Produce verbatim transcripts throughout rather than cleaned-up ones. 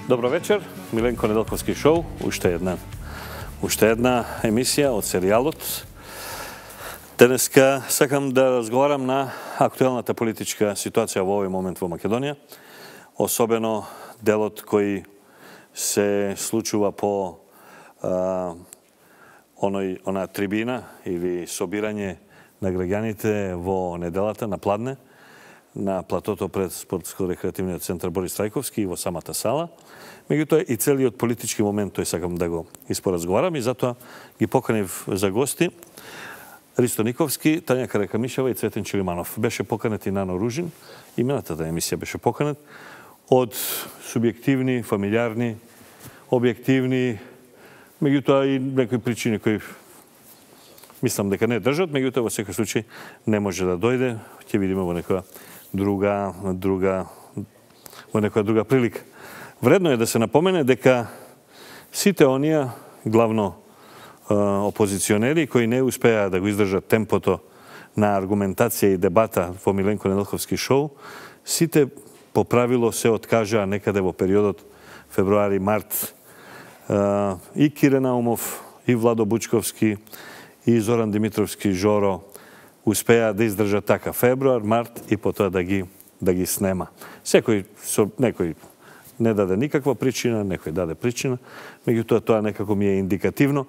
Добро вечер, Миленко Неделковски шоу, уште една, уште една емисија од серијалот. Денеска сакам да разговарам на актуелната политичка ситуација во овој момент во Македонија, особено делот кој се случува по а, оној, она трибина или собирање на граѓаните во неделата на Пладне, на платото пред спортско-рекреативниот центар Борис Трајковски и во самата сала. Меѓутоа и целиот политички момент тој сакам да го испоразговарам и затоа ги поканив за гости Ристо Никовски, Тања Каракамишева и Цветен Чилиманов. Беше поканет и Нано Ружин, именатата емисија беше поканет од субјективни, фамилиарни, објективни, меѓутоа и некои причини кои мислам дека не држат, меѓутоа во секој случај не може да дојде, ќе видиме во некоја друга друга во некоја друга прилика. Вредно е да се напомене дека сите оние главно опозиционери кои не успеа да го издржат темпото на аргументација и дебата во Миленко Неделковски шоу, сите по правило се откажаа некаде во периодот февруари-март. И Кире Наумов, и Владо Бучковски, и Зоран Димитровски Жоро успеа да издржат така февруар, март и потоа да ги да ги снема. Секој со некој не даде никаква причина, некој даде причина, меѓутоа тоа некако ми е индикативно,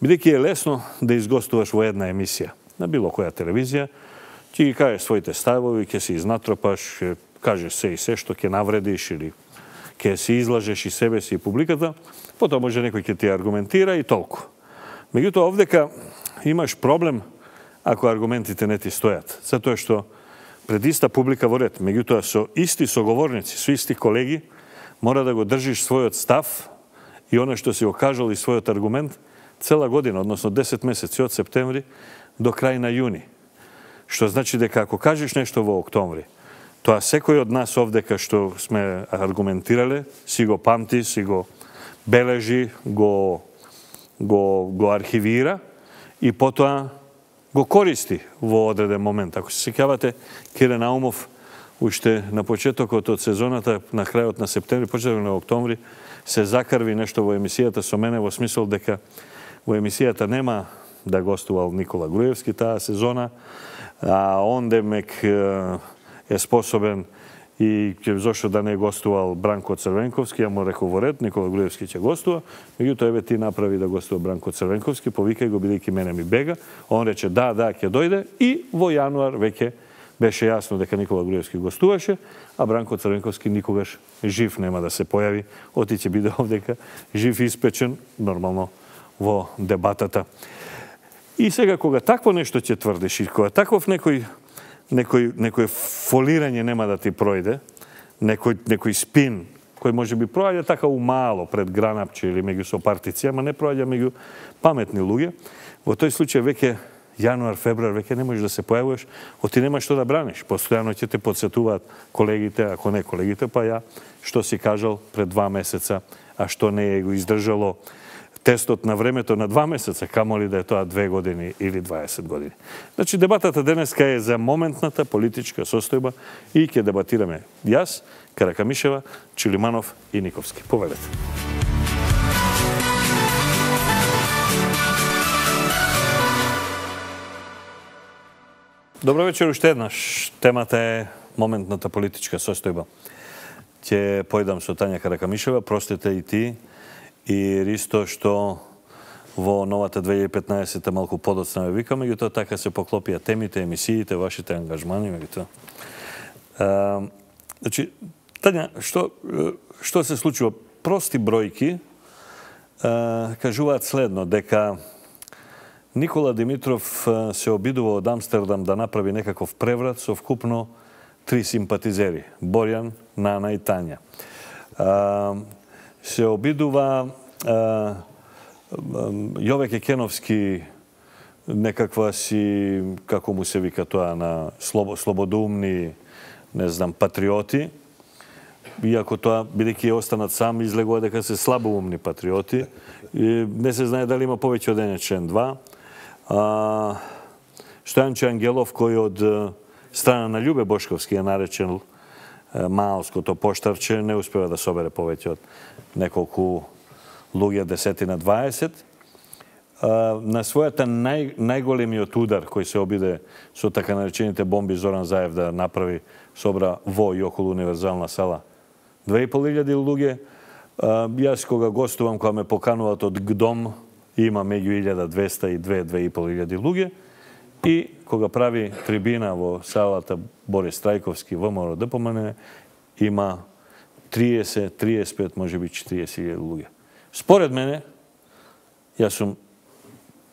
бидејќи е лесно да изгостуваш во една емисија на било која телевизија, ќе ги кажеш своите ставови, ќе се изнатропаш, ќе кажеш се и се што ќе навредиш или ќе се излажеш и себе си и публиката, потоа може некој ќе ти аргументира и толку. Меѓутоа овдека имаш проблем ако аргументите не ти стојат, затоа што пред иста публика во ред, меѓутоа со исти соговорници, со исти колеги, мора да го држиш својот став и оно што си го кажал и својот аргумент цела година, односно десет месеци од септември до крај на јуни. Што значи дека ако кажеш нешто во октомври, тоа секој од нас овдека што сме аргументирале, си го памти, си го бележи, го, го, го архивира и потоа го користи во одреден момент. Ако се сеќавате, Кире Наумов уште на почетокот од сезоната, на крајот на септември, почетокот на октомври, се закарви нешто во емисијата со мене во смисол дека во емисијата нема да гостувал Никола Груевски таа сезона, а онде мек е способен и ќе зошто да не гостувал Бранко Црвенковски, ја му рекол во ред, Никола Груевски ќе гостува, меѓутоа еве ти направи да гостува Бранко Црвенковски, повикај го бидејќи мене ми бега, он рече да, да, ќе дојде и во јануар веќе беше јасно дека Никола Груевски гостуваше, а Бранко Црвенковски никогаш жив нема да се појави, оти ќе биде овдека жив и испечен, нормално, во дебатата. И сега кога такво нешто ќе тврдиш и кога таков некој некој некој фолирање нема да ти пројде, некој некој спин кој може би проаѓа така умало пред гранапче или меѓу сопартици, ама не проаѓа меѓу паметни луѓе, во тој случај веќе јануар, февруар, веќе не можеш да се појавуваш, оти нема што да браниш. Постојано ќе те потсетуваат колегите, ако не колегите, па ја што си кажал пред два месеца, а што не е го издржало тестот на времето на два месеца, камоли да е тоа две години или дваесет години. Значи, дебатата денеска е за моментната политичка состојба и ќе дебатираме јас, Каракамишева, Чилиманов и Никовски. Повелете. Добро вечер уште еднаш. Темата е моментната политичка состојба. Ќе појдам со Тања Каракамишева, простите и ти, и Ристо што во новата две илјади и петнаесетта малку подоцна ме вика, меѓутоа така се поклопија темите, емисиите, вашите ангажмани, меѓутоа. Значи, Тања, што, што се случува? Прости бројки а, кажуваат следно, дека Никола Димитров се обидува од Амстердам да направи некаков преврат со вкупно три симпатизери, Борјан, Нана и Тања. А, се обидува а, Јове Кекеновски некаква си, како му се вика тоа, на слободумни, не знам, патриоти, иако тоа, бидејќи останат сам, излегува дека се слабоумни патриоти. И не се знае дали има повеќе од еден член два. А, Стојанче Ангелов, кој од страна на Љубе Бошковски е наречен маалското поштарче не успева да собере повеќе од неколку луѓе, десетина, дваесет. На својата нај, најголемиот удар кој се обиде со така наречените бомби Зоран Заев да направи, собра во и околу универзална сала две и пол илјади луѓе. Јас кога гостувам, кога ме покануваат од ГДОМ, има меѓу илјада двеста и две до две и пол илјади луѓе. И кога прави трибина во салата Борис Трајковски, ВМРО ДПМН, има триесет, триесет и пет, можеби четириесет илјади луѓе. Според мене, јас сум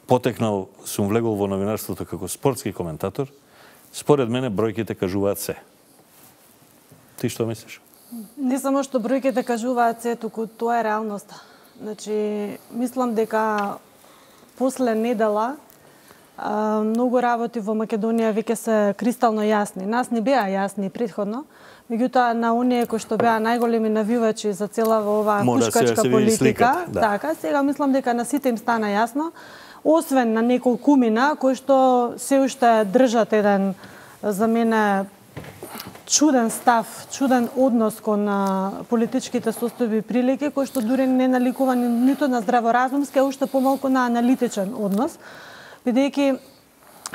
потекнал, сум влегол во новинарството како спортски коментатор, според мене бројките кажуваат се. Ти што мислиш? Не само што бројките кажуваат се, туку тоа е реалноста. Значи, мислам дека после недела многу работи во Македонија веќе се кристално јасни. Нас не беа јасни предходно, меѓутоа на оние кои што беа најголеми навивачи за цела оваа пушкачка политика, да. Така, сега мислам дека на сите им стана јасно, освен на неколкумина кои што се уште држат еден, за мене, чуден став, чуден однос кон политичките состојби и прилики, кои што дури не наликува ниту на здраворазумски, а уште помалку на аналитичен однос. Бидејќи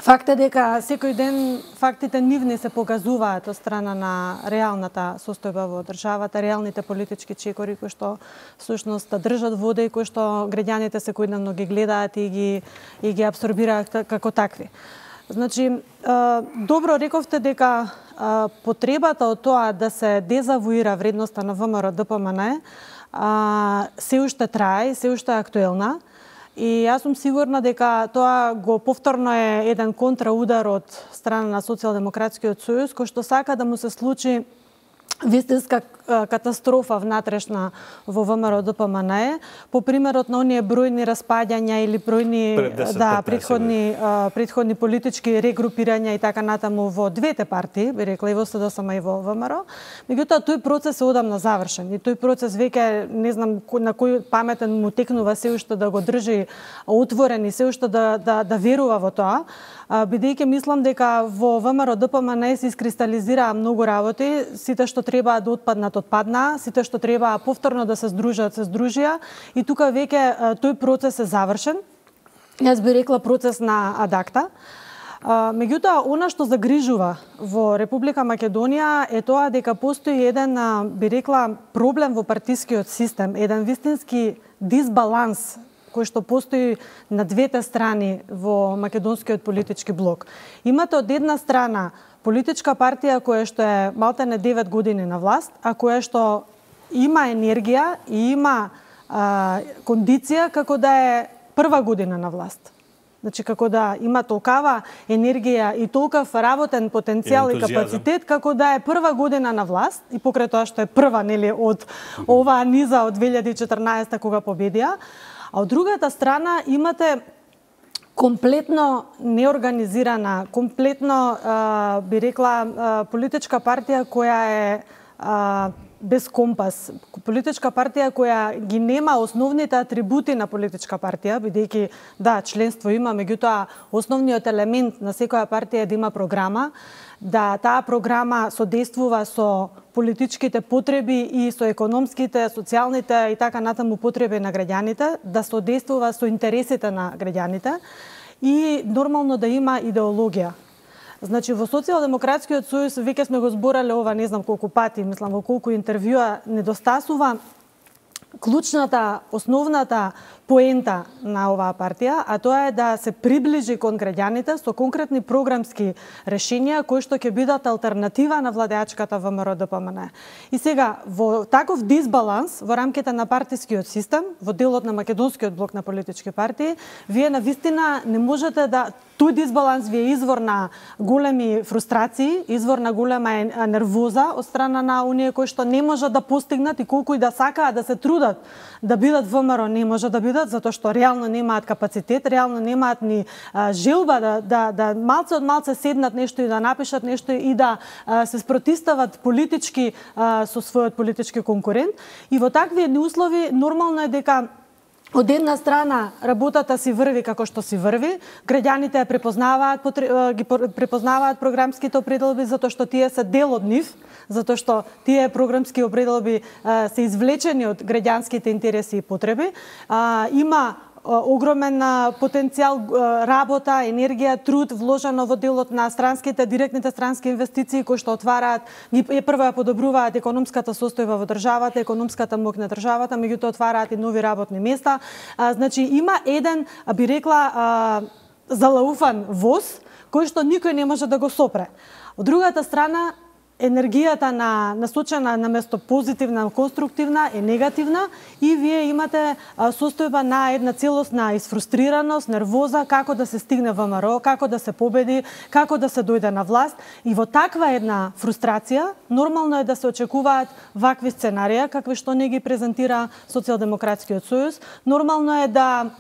факт е дека секој ден фактите нивни се покажуваат од страна на реалната состојба во државата, реалните политички чекори кои што всушност држат вода и кои што граѓаните секојдневно ги гледаат и ги и ги апсорбираат како такви. Значи, добро рековте дека потребата од тоа да се дезавуира вредноста на ВМРО ДПМН се уште трае, се уште актуелна. И јас сум сигурна дека тоа го повторно е еден контраудар од страна на Социјалдемократскиот сојуз, кој што сака да му се случи вистинска катастрофа внатрешна во ВМРО ДПМН, по примерот на оние бројни распаѓања или бројни да претходни претходни политички регрупирања и така натаму во двете партии, би рекла и во СДСМ и во ВМРО. Меѓутоа тој процес е одамна завршен и тој процес веќе не знам на кој паметен му текнува се уште да го држи отворен и се уште да да да верува во тоа. Бидејќи мислам дека во ВМРО ДПМН се искристализираа многу работи, сите што треба да отпаднат отпадна, сите што треба повторно да се здружат се здружија и тука веќе тој процес е завршен. Јас би рекла процес на адакта. Меѓутоа, она што загрижува во Република Македонија е тоа дека постои еден, би рекла, проблем во партискиот систем, еден вистински дисбаланс кој што постои на двете страни во македонскиот политички блок. Имате од една страна политичка партија која што е малтене девет години на власт, а која што има енергија и има а, кондиција како да е прва година на власт. Значи, како да има толкава енергија и толкав работен потенцијал и, и капацитет, како да е прва година на власт, и покрај тоа што е прва, нели, од оваа низа од две илјади и четрнаесета кога победија. А од другата страна имате комплетно неорганизирана, комплетно, а, би рекла, а, политичка партија која е а, без компас. Политичка партија која ги нема основните атрибути на политичка партија, бидејќи, да, членство има, меѓутоа основниот елемент на секоја партија е да има програма, да таа програма содействува со политичките потреби и со економските, социјалните и така натаму потреби на граѓаните, да содействува со интересите на граѓаните и нормално да има идеологија. Значи, во Социјалдемократскиот сојуз веќе сме го зборале ова не знам колку пати, мислам во колку интервјуа, недостасува клучната, основната поента на оваа партија, а тоа е да се приближи кон граѓаните со конкретни програмски решенија кои што ќе бидат алтернатива на владеачката ВМРО ДПМН. И сега, во таков дисбаланс во рамките на партискиот систем, во делот на македонскиот блок на политички партии, вие навистина не можете да тој дисбаланс ви е извор на големи фрустрации, извор на голема нервоза од страна на оние кои што не можат да постигнат и колку и да сакаат да се трудат да бидат ВМРО, не може да бидат затоа што реално немаат капацитет, реално немаат ни а, желба да да да малце од малце седнат нешто и да напишат нешто и да а, се спротистават политички а, со својот политички конкурент. И во такви услови нормално е дека Од една страна, работата си врви како што си врви, граѓаните препознаваат, ги препознаваат програмските определби затоа што тие се дел од нив, затоа што тие програмски определби се извлечени од граѓанските интереси и потреби. Има огромен потенцијал, работа, енергија, труд вложено во делот на странските, директните странски инвестиции кои што отвараат, е прво ја подобруваат економската состојба во државата, економската моќ на државата, меѓутоа отвараат и нови работни места. Значи има еден, би рекла, залауфан воз кој што никој не може да го сопре. Од другата страна, енергијата на насочена на место позитивна, конструктивна е негативна и вие имате состојба на една целосна изфрустрираност, нервоза како да се стигне во ВМРО, како да се победи, како да се дојде на власт и во таква една фрустрација нормално е да се очекуваат вакви сценарија какви што не ги презентира Социјалдемократскиот сојуз. Нормално е да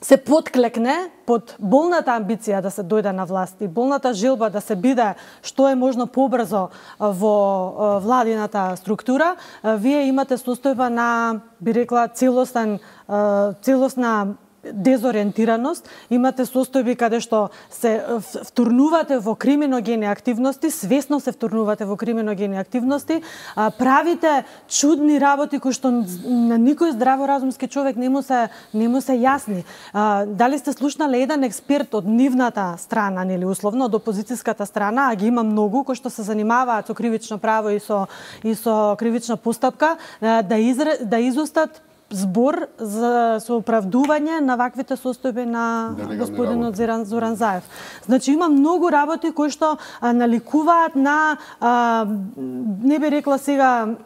се подклекне под болната амбиција да се дојде на власт и болната желба да се биде што е можно побрзо во владината структура, вие имате состојба на, би рекла, целосен, целосна дезориентираност, имате состојби каде што се втурнувате во криминогени активности, свесно се втурнувате во криминогени активности, правите чудни работи кои што на никој здраворазумски човек не му се не му се јасни. Дали сте слушнале еден експерт од нивната страна, нели условно, од опозицијската страна, а ги има многу кои што се занимаваат со кривично право и со и со кривична постапка, да изре, да изустат збор за соправдување на ваквите состојби на господинот Зоран Заев. Значи има многу работи кои што наликуваат на, а, не би рекла сега,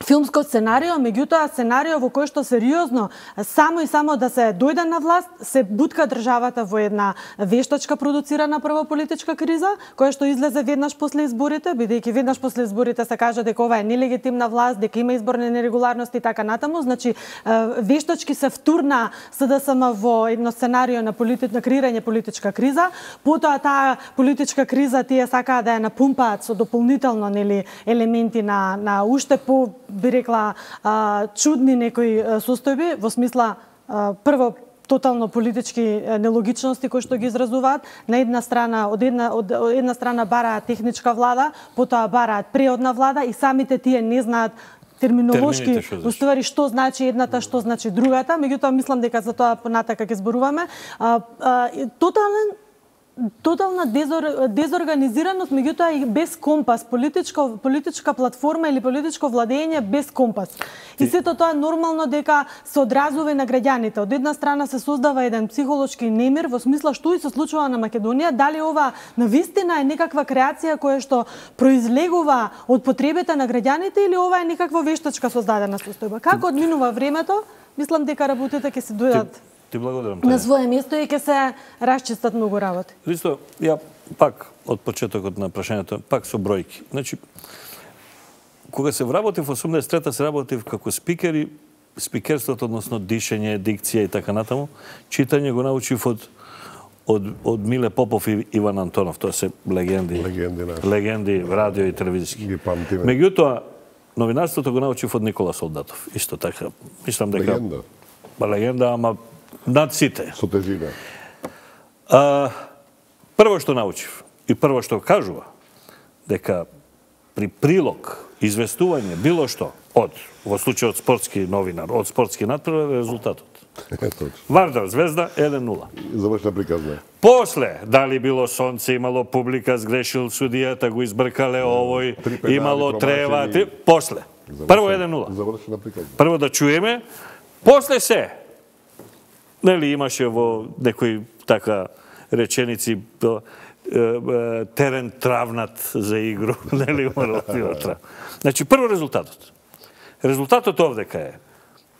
филмско сценарио, меѓутоа сценарио во кој што сериозно само и само да се дојде на власт, се бутка државата во една вештачка продуцирана прва политичка криза, која што излезе веднаш после изборите, бидејќи веднаш после изборите се кажа дека ова е нелегитимна власт, дека има изборни нерегуларности и така натаму. Значи вештачки се втурна СДСМ во едно сценарио на, полити... на креирање политичка криза, потоа таа политичка криза тие сакаат да ја напумпаат со дополнително, нели, елементи на на уште по, би рекла, чудни некои состојби, во смисла, прво, тотално политички нелогичности кои што ги изразуваат. На една страна, од една, од една страна бараат техничка влада, потоа бараат преодна влада и самите тие не знаат терминолошки, уствари што значи едната, што значи другата, меѓутоа мислам дека за тоа понатака ќе зборуваме. Тотален тотална дезор, дезорганизираност, меѓутоа и без компас, политичка политичка платформа или политичко владење без компас. И сето тоа нормално дека се одразува на граѓаните. Од една страна се создава еден психолошки немир во смисла што и се случува на Македонија, дали ова навистина е некаква креација која што произлегува од потребите на граѓаните или ова е некаква вештачка создадена состојба. Како одминува времето, мислам дека работите ќе се дојдат Ти благодарам. На свое место и ќе се расчистат многу работи. Ристо, ја пак од почетокот на прашањето, пак со бројки. Значи, кога се вработив во осумдесет и трета се работив како спикер и спикерството, односно дишење, дикција и така натаму, читање го научив од од од Миле Попов и Иван Антонов, тоа се легенди. Легенди, наши. Легенди радио и телевизиски. Ги памтиме. Меѓутоа, новинарството го научив од Никола Солдатов. Исто така, мислам дека Легенда. Ба легенда, ама над сите. Со тежина. А, прво што научив и прво што кажува, дека при прилог, известување, било што, од, во случајот спортски новинар, од спортски надпревар, резултатот. Вардар Звезда еден нула. Завршна приказна. После, дали било сонце, имало публика, сгрешил судијата, го избркале овој, имало трева, три... после. Прво еден нула. Завршна приказна. Прво да чуеме, после се. Нели имаше во некои така реченици терен травнат за игру, нели умрла трав. Значи прво резултатот. Резултатот овдека е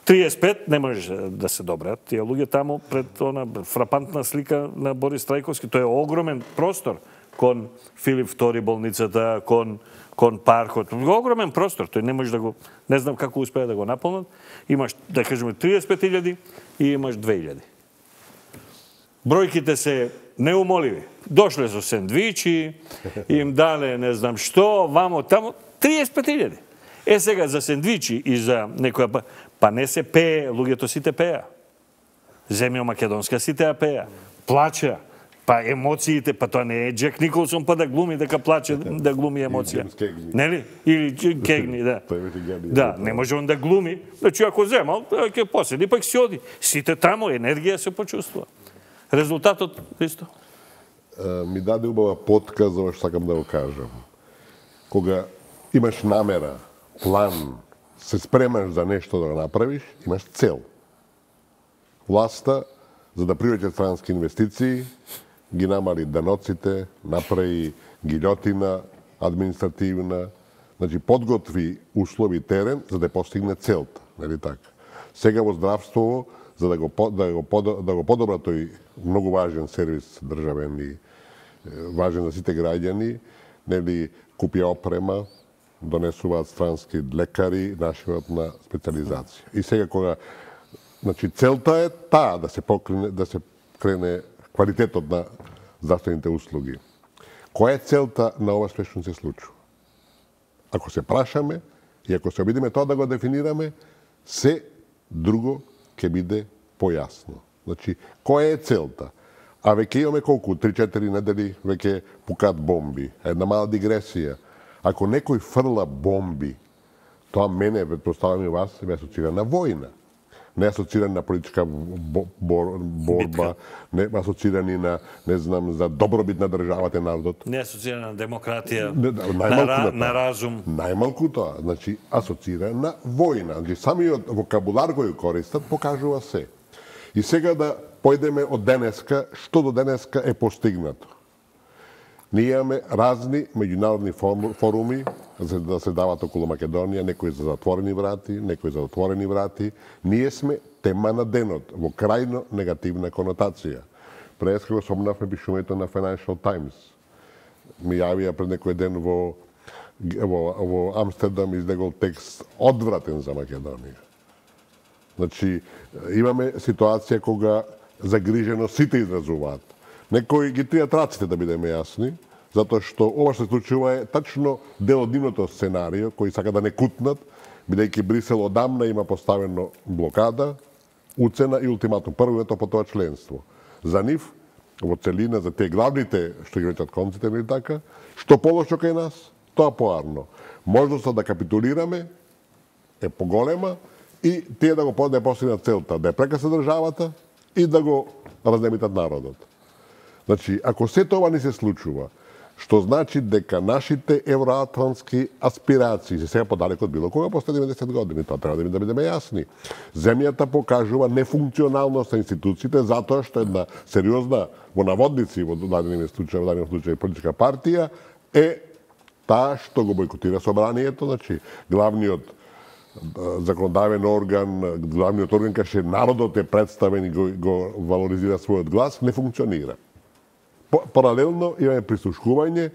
триесет и пет, не може да се добрат тие луѓе таму пред она фрапантна слика на Борис Трајковски, тоа е огромен простор кон Филип втори болницата, кон кон паркот, огромен простор, тој не може да го, не знам како успеа да го наполнат. Имаш, да кажеме, триесет и пет илјади и имаш две илјади. Бројките се неумоливи. Дошле со сендвичи, им дале не знам што, вамо, тамо, триесет и пет илјади. Е сега за сендвичи и за некоја, па не се пее, луѓето сите пеа. земја македонска сите ја пеа. Плача. Па емоциите, па тоа не е Джек Николсон па да глуми дека плаче, да глуми емоција. Нели? Или Кегни, да. Да, не може он да глуми. Значи ако земал, ќе поседи пак си оди. Сите таму енергија се почувствува. Резултатот исто. Ми даде убава потка за ова што сакам да го кажам. Кога имаш намера, план, се спремаш за нешто да го направиш, имаш цел. Власта, за да привлече странски инвестиции, ги намали даноците, направи гилјотина административна, значи подготви услови терен за да постигне целта, нели така? Сега во здравство, за да го да го да го подобра тој многу важен сервис државен и важен за сите граѓани, нели купија опрема, донесуваат странски лекари, нашиват на специализација. И сега кога значи целта е таа да се покрене да се крене квалитетот на здравствените услуги. Која е целта на ова што се случува? Ако се прашаме и ако се обидиме тоа да го дефинираме, се друго ќе биде појасно. Значи, која е целта? А веќе имаме колку? три-четири недели веќе пукаат бомби. Една мала дигресија. Ако некој фрла бомби, тоа мене, предпоставам и вас, ме асоцира на војна. Не асоцирани на политичка борба, не асоцирани на, не знам, за добробит на државата и народот. Не асоцирани на демократија, не, на, на, на разум. Најмалку тоа, значи асоцира на војна. Значи самиот вокабулар кој користат покажува се. И сега да појдеме од денеска, што до денеска е постигнато. Ние имаме разни меѓународни форуми за да се дават околу Македонија, некои за затворени врати, некои за отворени врати. Ние сме тема на денот, во крајно негативна конотација. Преска го спомнавме пишувањето на Financial Times. Ми јавија пред некој ден во, во, во Амстердам издегол текст одвратен за Македонија. Значи, имаме ситуација кога загрижено сите изразуваат. Некои ги тријат раците, да бидеме јасни, затоа што ова што се случува е тачно дел од нивното сценарио, кои сака да не кутнат, бидејќи Брисел одамна има поставено блокада, уцена и ултиматум. Прво е тоа по тоа членство. За нив, во целина, за тие главните, што ги речат конците, или така, што полошо кај нас, тоа поарно. Можноста да капитулираме е поголема и тие да го да постигнат целта, да ја прекасе државата и да го разнемитат народот. Значи, ако се тоа не се случува, што значи дека нашите евроатлантски аспирации се сега подалеку од било кога после деветдесет години, тоа треба да бидеме јасни. Земјата покажува нефункционалност на институциите затоа што една сериозна во наводници во даден случај, во даден случај политичка партија е таа што го бойкотира собранието, значи главниот законодавен орган, главниот орган кај народот е представен и го, го валоризира својот глас, не функционира. Паралелно имаме прислушкување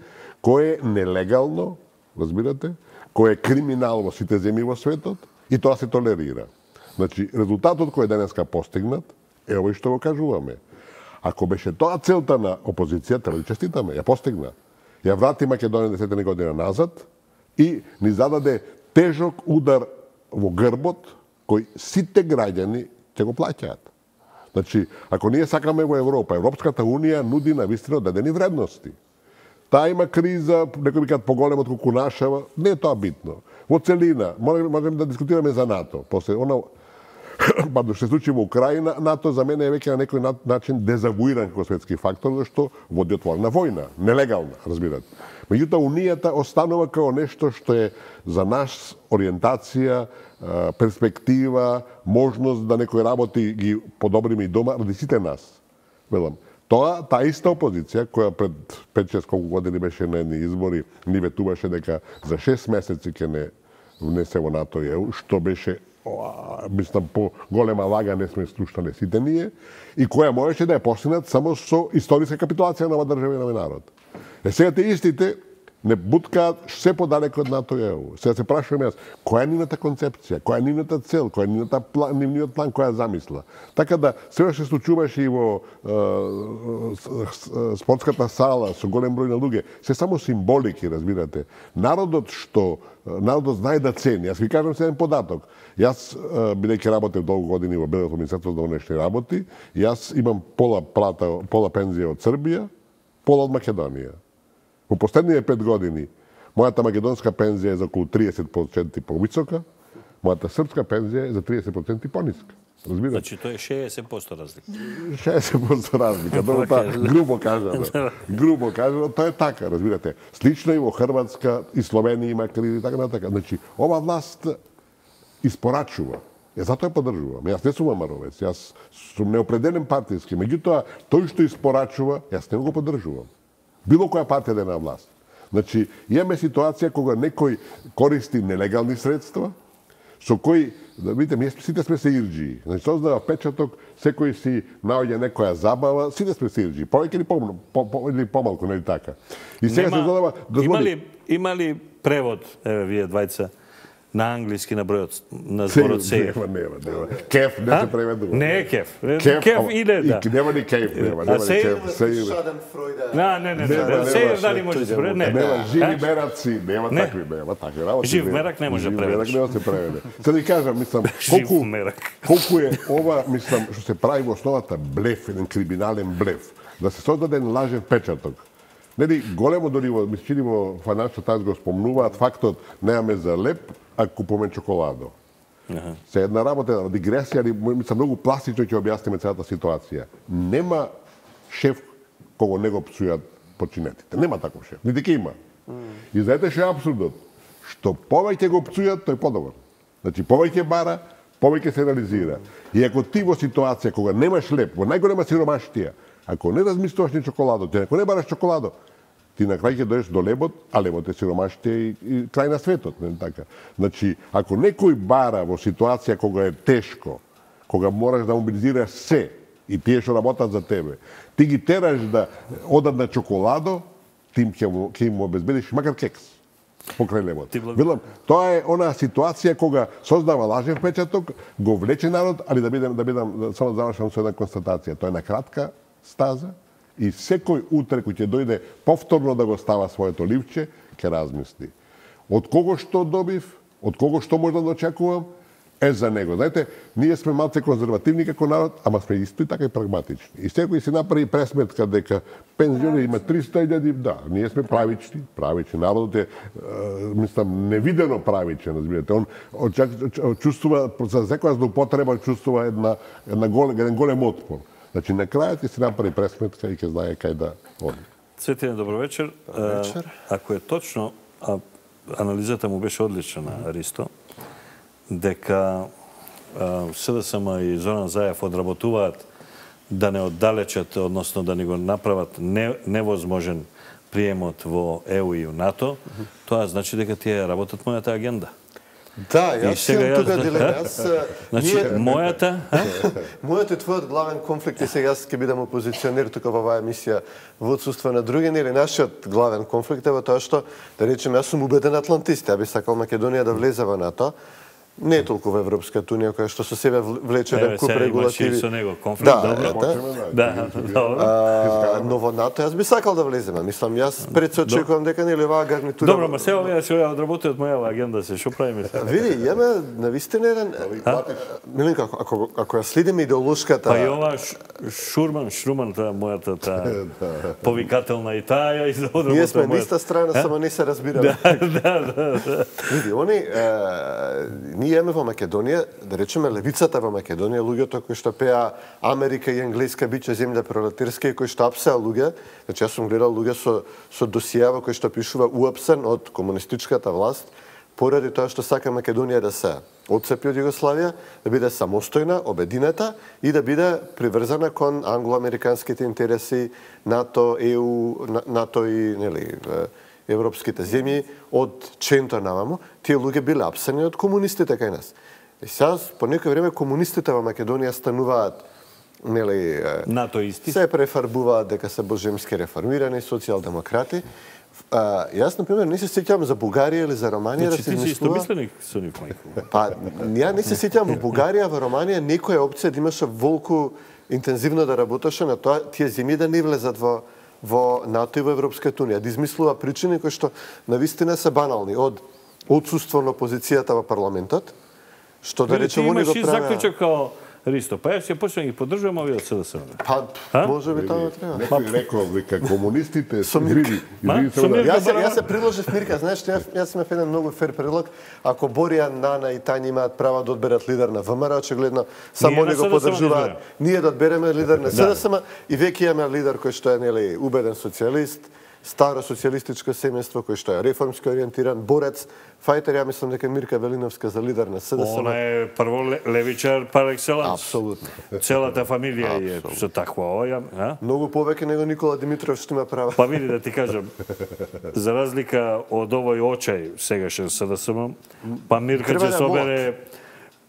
кое е нелегално, разбирате, кое е криминал во сите земји во светот и тоа се толерира. Значи, резултатот кој е денеска постигнат е овој што го кажуваме. Ако беше тоа целта на опозиција, треба да честитаме, ја постигна. Ја врати Македонија десет година назад и ни зададе тежок удар во грбот кој сите граѓани ќе го плаќаат. Значи, ако ние сакаме во Европа, Европската Унија нуди на вистина одредени вредности. Таа има криза, некои викаат поголема од колку нашава, не е тоа битно. Во целина, можеме да дискутираме за НАТО. После она, падо, што се случи во Украина, НАТО за мене е веќе на некој начин дезавуиран како светски фактор, зашто води отворена војна, нелегална, разбирате. Меѓутоа, Унијата останува како нешто што е за нас ориентација, перспектива, можност да некои работи ги подобриме и дома ради сите нас. Велам, тоа, таа иста опозиција, која пред пет-шест колку години беше на едни избори, ни ветуваше дека за шест месеци ќе не внесе во НАТО и ЕУ, што беше, мислам, по голема лага не сме слушнале сите ние, и која можеше да ја постигнат само со историска капитулација на ова држава и на овој народ. Е, сега те истите не буткаат се подалеку од НАТО и Е У. Сега се прашувам јас, која е нивната концепција, која е нивната цел, која е нивната план, нивниот план, која е замисла. Така да, сега се случуваше и во е, спортската сала со голем број на луѓе, се само символики, разбирате. Народот што народот знае да цени. Јас ви кажам се еден податок. Јас, бидејќи работев долго години во Белгијското министерство за внешни работи, јас имам пола плата, пола пензија од Србија, пола од Македонија. Во последниве пет години, мојата македонска пензија е за околу триесет проценти повисока, мојата српска пензија е за триесет проценти пониска. Разбирате? Значи, тоа е шеесет проценти разлика. шеесет проценти разлика. Добро, тоа грубо кажано. Грубо кажано, тоа е така, разбирате. Слично и во Хрватска, и Словенија има кризи, така натака. Значи, ова власт испорачува. Ја затоа ја поддржувам. Јас не сум амаровец, јас сум неопределен партиски. Меѓутоа, тој што испорачува, јас не го поддржувам. Било која партија да е на власт. Значи, имаме ситуација кога некој користи нелегални средства, со кои, да видите, ние сите сме се ирџии. Значи, создава печаток, секој си наоѓа некоја забава, сите сме се ирџии. Повеќе или помалку, по, по, или помалку, нели така. И сега Нема, се задава... Има ли, има ли превод, еве, вие двајца, на англиски на бројот, на зборот сејф? Нема, нема, нема. Кеф не се преведува. Не е кеф. Кеф, Кеф иде, да. Нема ни кеф, нема, нема ни кеф. Не, не, не, сејф дали може да се преведе? Не. Нема, живи мераци, нема такви, нема такви работи. Жив мерак не може да преведеш. Жив мерак не може да се преведе. Се да кажам, мислам, Жив колку, мерак. колку е ова, мислам, што се прави во основата блеф, еден криминален блеф, да се создаде еден лажен печаток. Нели, големо дори во, ми се чини во Financial Times го спомнуваат фактот немаме за леп, а купуваме чоколадо. Uh-huh. Се една работа, една дигресија, али мислам многу пластично ќе објасниме целата ситуација. Нема шеф кого не го псујат починетите. Нема таков шеф. Нити ќе има. Mm. И знаете што е апсурдот? Што повеќе го псујат, тој подобар. Значи, повеќе бара, повеќе се реализира. И ако ти во ситуација кога немаш леп, во најголема сиромаштија, ако не размислуваш ни чоколадо, ти ако не бараш чоколадо, ти на крај ќе дојдеш до лебот, а лебот е сиромаштија и, и крај на светот, не така. Значи, ако некој бара во ситуација кога е тешко, кога мораш да мобилизираш се и тие што работат за тебе, ти ги тераш да одат на чоколадо, ти ќе му, ќе им обезбедиш макар кекс покрај лебот. Велам, тоа е она ситуација кога создава лажен впечаток, го влече народ, али да бидам да бидам да само завршам со една констатација. Тоа е на кратка стаза и секој утре кој ќе дојде повторно да го става своето ливче, ќе размисли. Од кого што добив, од кого што можам да очекувам, е за него. Знаете, ние сме малце конзервативни како народ, ама сме исто и така и прагматични. И секој си направи пресметка дека пензионери има триста илјади, да, ние сме правични, правични. Народот е, мислам, невидено правичен, разбирате. Он очак, чувствува, за секоја злоупотреба чувствува една, една голем, еден голем отпор. Значи, на крајот ќе се направи пресметка и ќе знае кај да оди. Цветине, добро вечер. Добро вечер. Ако е точно, а анализата му беше одлична на Ристо, дека С Д С М и Зоран Заев одработуваат да не оддалечат, односно да не го направат не, невозможен приемот во Е У и НАТО, тоа значи дека тие работат мојата агенда. Да, јас имам тука дилема. Значи, мојата... Мојот и твојот главен конфликт е сега, јас ќе бидам опозиционер тука во оваа емисија во отсуство на други, или нашиот главен конфликт е во тоа што, да речем, јас сум убеден атлантист, ја би сакал Македонија да влезе во НАТО, не толку во Европската унија, која што со себе влече еден куп регулативи. Имаш и со него конфликт, да, добро. Да, добро. Но во НАТО јас би сакал да влеземе. Мислам, јас пред се очекувам дека нели оваа гарнитура... Добро, ма се овие што ја одработуваат мојава агенда се, што правиме сега? Види, јаме навистина еден... Милинка, ако, ако ја следиме идеолошката... Па и ова Шурман, Шруман, таа мојата таа повикателна и таа ја изодработува. Ние сме на иста страна, само не се разбираме. Да, да, да. Види, они... Ние имаме во Македонија, да речеме левицата во Македонија, луѓето кои што пеа Америка и Енглеска биче земја пролетарска и кои што апсеа луѓе, значи јас сум гледал луѓе со со досијава кои што пишува уапсен од комунистичката власт, поради тоа што сака Македонија да се отцепи од Југославија, да биде самостојна, обединета и да биде приврзана кон англо-американските интереси, НАТО, Е У, НАТО и нели европските земји од Ченто наваму, тие луѓе биле апсени од комунистите кај нас. И сега, по некој време, комунистите во Македонија стануваат нели НАТО исти се префарбуваат дека се божемски реформирани социјалдемократи. А, јас, например, не се сеќавам за Бугарија или за Романија да се измислува... Ти си истомисленик со нив, мајко. Па, ја не се сеќавам во Бугарија, во Романија, некоја опција да имаше волку интензивно да работеше на тоа тие земји да не влезат во во НАТО и во Европската унија, да измислува причини кои што навистина се банални, од отсуство на опозицијата во парламентот, што да речеме они го правеа. Ти имаш и заклучок као Ристо, па јас ќе почнем ги поддржувам овие од СДСМ. Па, може би тоа треба. Некој рекол дека комунистите се извини, извини се да. Јас јас се приложив Мирка, знаеш, јас јас имав еден многу фер предлог, ако Боријан, Нана и Тања имаат право да одберат лидер на ВМРО, очигледно само они го поддржуваат. Ние да одбереме лидер на СДСМ и веќе имаме лидер кој што е нели убеден социјалист, старо социјалистичко семејство кој што е реформски ориентиран, борец, фајтер, ја мислам дека Мирка Велиновска за лидер на СДСМ. Она е прво левичар пар екселанс. Апсолутно. Целата фамилија е со таква оја, а? Многу повеќе него Никола Димитров што има права. Па види да ти кажам, за разлика од овој очај сегашен СДСМ, па Мирка ќе собере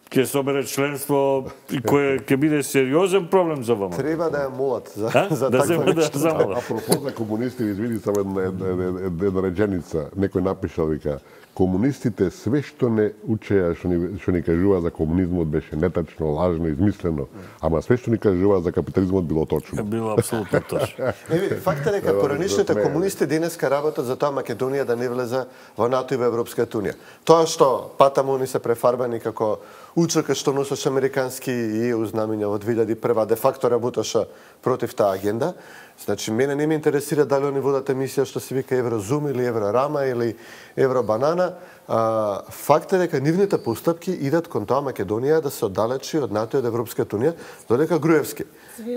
ќе собере членство кое ќе биде сериозен проблем за ВМ. Треба да ја молат за а? за да таква нешто. Да Апропо за комунисти, извини само една, една, една реченица, некој напишал вика комунистите све што не учеа, што ни, што ни кажува за комунизмот беше нетачно, лажно, измислено, ама све што ни кажува за капитализмот било точно. Било апсолутно точно. Еви, факт е дека поранишните комунисти денеска работат за тоа Македонија да не влезе во НАТО и во Европската унија. Тоа што патаму ни се префарбани како учека што носеше американски и ЕУ знамиња во две илјади и прва, де факто работеше против таа агенда. Значи, мене не ме интересира дали они водат емисија што се вика Еврозум или Еврорама или Евробанана. А, факт е дека нивните постапки идат кон тоа Македонија да се оддалечи од НАТО и од Европската унија, додека Груевски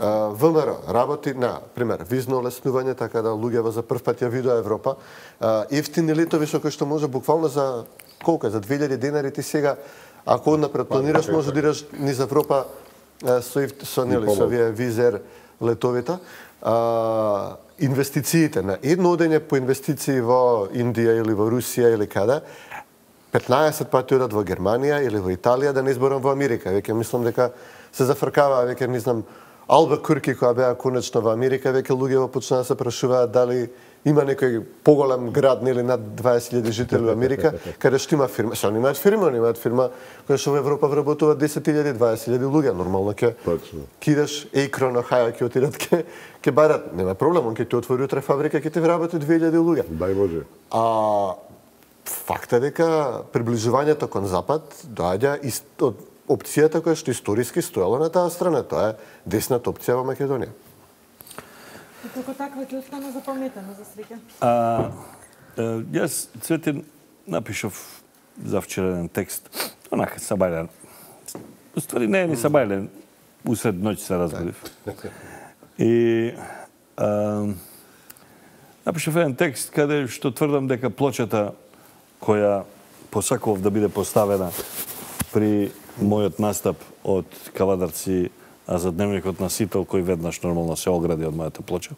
а, ВМРО работи на, пример, визно олеснување, така да луѓето за прв пат ја видоа Европа, а, ефтини летови со кои што може буквално за колку за две илјади денари ти сега, ако однапред планираш, може да идеш низ Европа со со нели со овие визер летовите. А, инвестициите на едно одење по инвестиции во Индија или во Русија или каде, петнаесет пати одат во Германија или во Италија, да не изборам во Америка. Веќе мислам дека се зафркава, веќе не знам, Албакурки која беа конечно во Америка, веќе луѓето почнаа да се прашуваат дали има некој поголем град нели над дваесет илјади жители во Америка, каде што има фирма. Што немаат фирма, немаат фирма која што во Европа вработува десет илјади, дваесет илјади луѓе, нормално ќе кидаш Акрон, Охајо ќе отидат ќе ќе барат, нема проблем, он ќе ти отвори утре фабрика, ќе ти вработи две илјади луѓе. Дај може. А факт е дека приближувањето кон запад доаѓа од опцијата која што историски стоела на таа страна, тоа е десната опција во Македонија. И како таква ќе остане запаметена за среќа. А, јас, Цветин, напишав за вчерен текст, онака сабајлен. Уствари не е ни сабајлен, усред ноќ се разбудив. И а, напишав еден текст каде што тврдам дека плочата која посакував да биде поставена при мојот настап од Кавадарци, а за дневникот на Сител, кој веднаш нормално се огради од мојата плоча,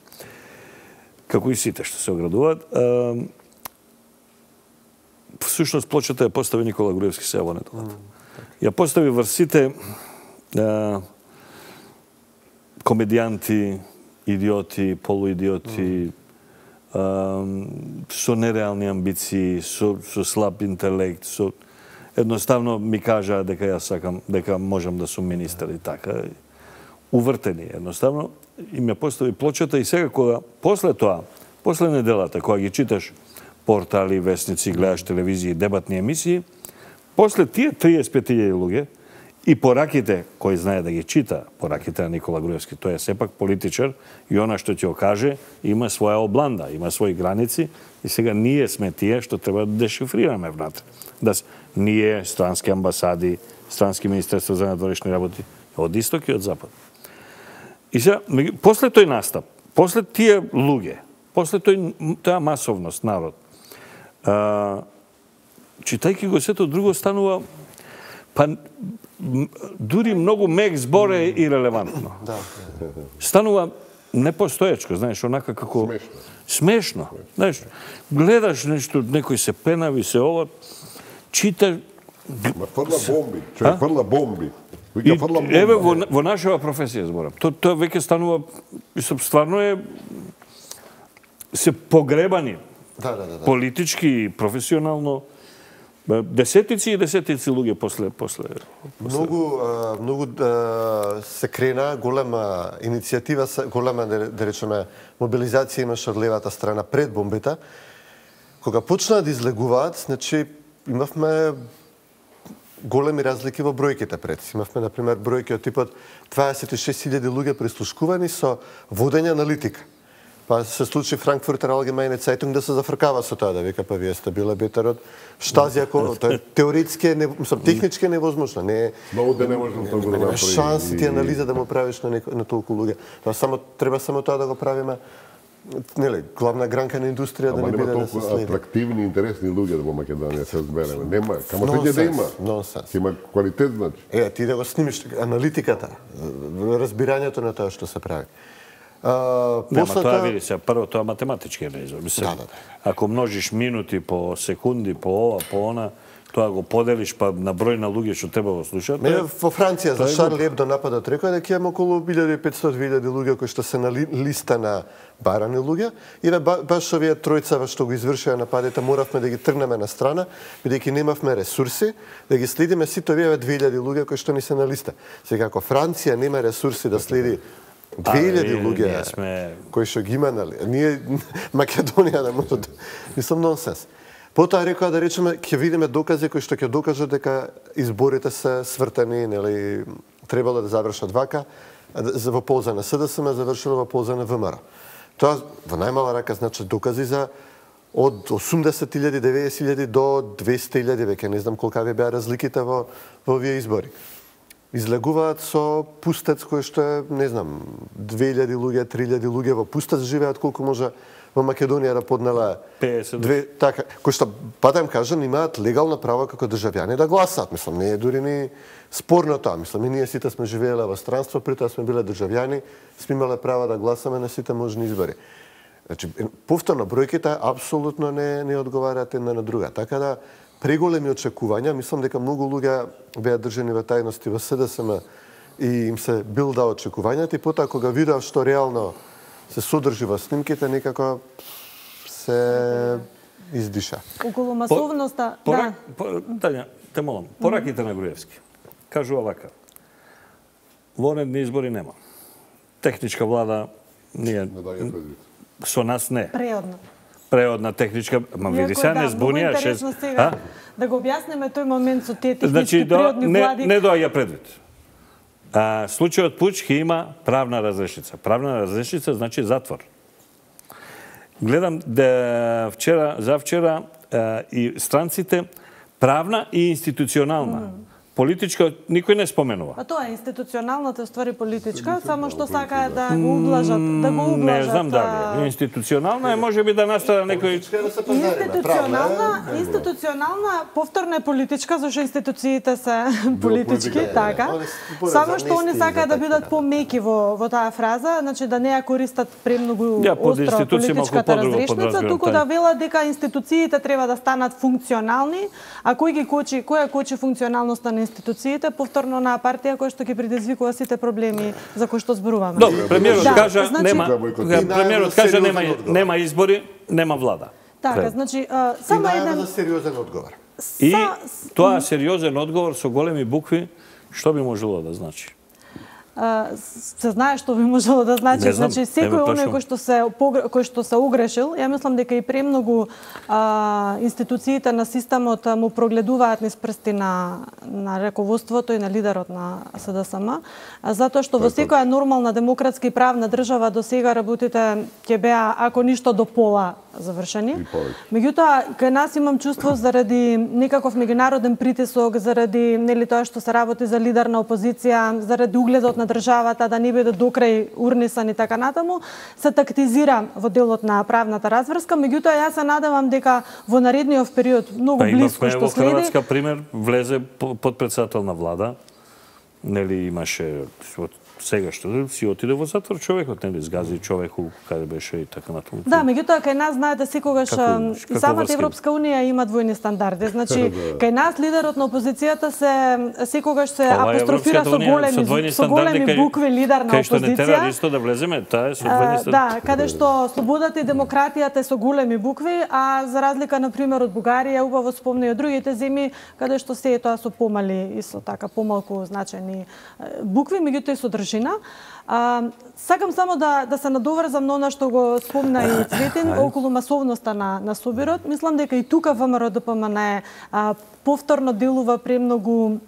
како и сите што се оградуваат. Всушност плочата ја постави Никола Груевски се во неделата. Ја постави врз сите а, комедијанти, идиоти, полуидиоти, а, со нереални амбиции, со, со слаб интелект, со едноставно ми кажа дека јас сакам, дека можам да сум министер и така. Увртени едноставно, и ме постави плочата и сега кога после тоа, после неделата, кога ги читаш портали, вестници, гледаш телевизија, дебатни емисии, после тие триесет и пет илјади луѓе и пораките, кој знае да ги чита, пораките на Никола Груевски, тој е сепак политичар и она што ќе окаже има своја обланда, има своји граници и сега ние сме тие што треба да дешифрираме внатре. Да ние, странски амбасади, странски министерство за надворешни работи, од исток и од запад. И сега, после тој настап, после тие луѓе, после тој, таа масовност, народ, а, читајќи го сето друго станува, па дури многу мек збор е ирелевантно. Станува непостоечко, знаеш, онака како... Смешно. Смешно. Знаеш, гледаш нешто, некој се пенави, се ова, чита... Ма фрла бомби, човек фрла бомби. Вика фрлам бомба. Еве во, во нашава професија зборам. Тоа тоа веќе станува, мислам, стварно е се погребани. Да, да, да, да. Политички и професионално. Десетици и десетици луѓе после после. Многу а, многу а, се крена голема иницијатива, голема да, да речеме мобилизација имаше од левата страна пред бомбите. Кога почнаа да излегуваат, значи имавме големи разлики во бројките пред. Имавме на пример бројки од типот дваесет и шест илјади луѓе прислушкувани со водење аналитика. Па се случи Франкфуртер Allgemeine Zeitung да се зафркава со тоа, да вика, па вие сте биле бетер од Штази, ако тоа теоретски, не, мислам, технички е невозможно, не е... Многу да не можам тоа го да направи. Шанси ти анализа да му правиш на, неко, на толку луѓе. Тоа само треба само тоа да го правиме. Нели, главна гранка на индустрија да не биде да се следи. Толку атрактивни, интересни луѓе во Македонија се збереме. Нема, камо ќе да има. Нонсенс. Има квалитет, значи. Е, ти да го снимиш аналитиката, разбирањето на тоа што се прави. Uh, Нема, после тоа види се, прво тоа математички е неизор. Да, да, да. Ако множиш минути по секунди, по ова, по она, тоа го поделиш па на број на луѓе што треба го слушаат. Не, во Франција за Шарл Ебдо нападот рекоа дека има околу илјада и петстотини до две илјади луѓе кои што се на ли, листа на барани луѓе и ба, баш овие тројца што го извршија нападите моравме да ги тргнеме на страна бидејќи немавме ресурси да ги следиме сите овие две илјади луѓе кои што ни се на листа. Сега ако Франција нема ресурси да следи две илјади луѓе сме... кои што ги има, нали? Ние Македонија да може да... Мислам, нонсенс. Потоа рекоа да речеме, ќе видиме докази кои што ќе докажат дека изборите се свртани, нели, требало да завршат вака, во полза на СДСМ, завршило во полза на ВМРО. Тоа во најмала рака значи докази за од осумдесет илјади, деветдесет илјади до двесте илјади, веќе не знам колкави беа разликите во, во овие избори. Излегуваат со пустец кој што е, не знам, две илјади луѓе, три илјади луѓе во пустец живеат колку може во Македонија да поднела две, така, кои што, па да им кажам, имаат легално право како државјани да гласаат. Мислам, не е дури ни спорно тоа. Мислам, и ние сите сме живееле во странство, притоа сме биле државјани, сме имале право да гласаме на сите можни избори. Значи, повторно, бројките апсолутно не, не одговараат една на друга. Така да, преголеми очекувања, мислам дека многу луѓе беа држани во тајности во СДСМ и им се билда очекувањата и потоа кога видеа што реално се содржи во снимките, некако се издиша. Околу масовноста, по, да. По, Тања, те молам, пораките на Груевски. Кажува вака. Вонедни избори нема. Техничка влада ние со нас не. Преодна. Преодна техничка, ма види се не збунија шест. Сега, да го објасниме тој момент со тие технички значи, преодни не, влади. Не доаѓа предвид. А, случајот Пуч ќе има правна разрешница. Правна разрешница значи затвор. Гледам да вчера, за вчера а, и странците правна и институционална. Mm. Политичка никој не споменува. А тоа е институционалната ствари политичка, само што сакаат да го ублажат, да го ублажат. Не знам дали. Институционална е можеби да настана некој Институционална, институционална повторно е политичка, зашто институциите се политички, така. Само што они сакаат да бидат помеки во во таа фраза, значи да не ја користат премногу остро политичката разрешница, туку да велат дека институциите треба да станат функционални, а кој ги кочи, која кочи функционалноста на институциите, повторно на партија која што ги предизвикува сите проблеми за кои што зборуваме. Добро, премиерот да, кажа значи, нема, премиерот кажа нема нема избори, нема влада. Така, значи а, само еден за сериозен одговор. И Са... тоа сериозен одговор со големи букви, што би можело да значи? Uh, се знае што би можело да значи, знам, значи секој оној кој што се кој што се огрешил, ја мислам дека и премногу uh, институциите на системот му прогледуваат низ прсти на на раководството и на лидерот на СДСМ, затоа што во секоја нормална демократска и правна држава до сега работите ќе беа ако ништо до пола завршени. Меѓутоа, кај нас имам чувство заради некаков меѓународен притисок, заради нели тоа што се работи за лидер на опозиција, заради угледот на државата да не биде докрај урнисан и така натаму, се тактизира во делот на правната разврска. Меѓутоа, јас се надевам дека во наредниот период многу па, близко што во следи. Хрватска пример влезе подпредседател на влада, нели имаше сега што си отиде во затвор човекот, нели, згази човеку каде беше и така натаму. Да, меѓутоа кај нас знаете секогаш и самата Европска унија има двојни стандарди. Значи кај нас лидерот на опозицијата се секогаш се апострофира со големи со големи букви лидер на опозиција. Кај што не тера исто да влеземе, таа е со двојни стандарди. Да, каде што слободата и демократијата е со големи букви, а за разлика на пример од Бугарија, убаво спомна и од другите земји каде што се е тоа со помали и со така помалку значајни букви, меѓутоа и содржина. А, сакам само да да се надоврзам на она што го спомна и Цветин околу масовноста на на собирот. Мислам дека и тука ВМРО Д П М Н а, повторно делува премногу,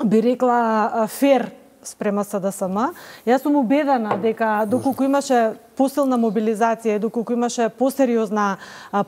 би рекла, фер спрема С Д С М. Јас сум убедена дека доколку имаше посилна мобилизација и доколку имаше посериозна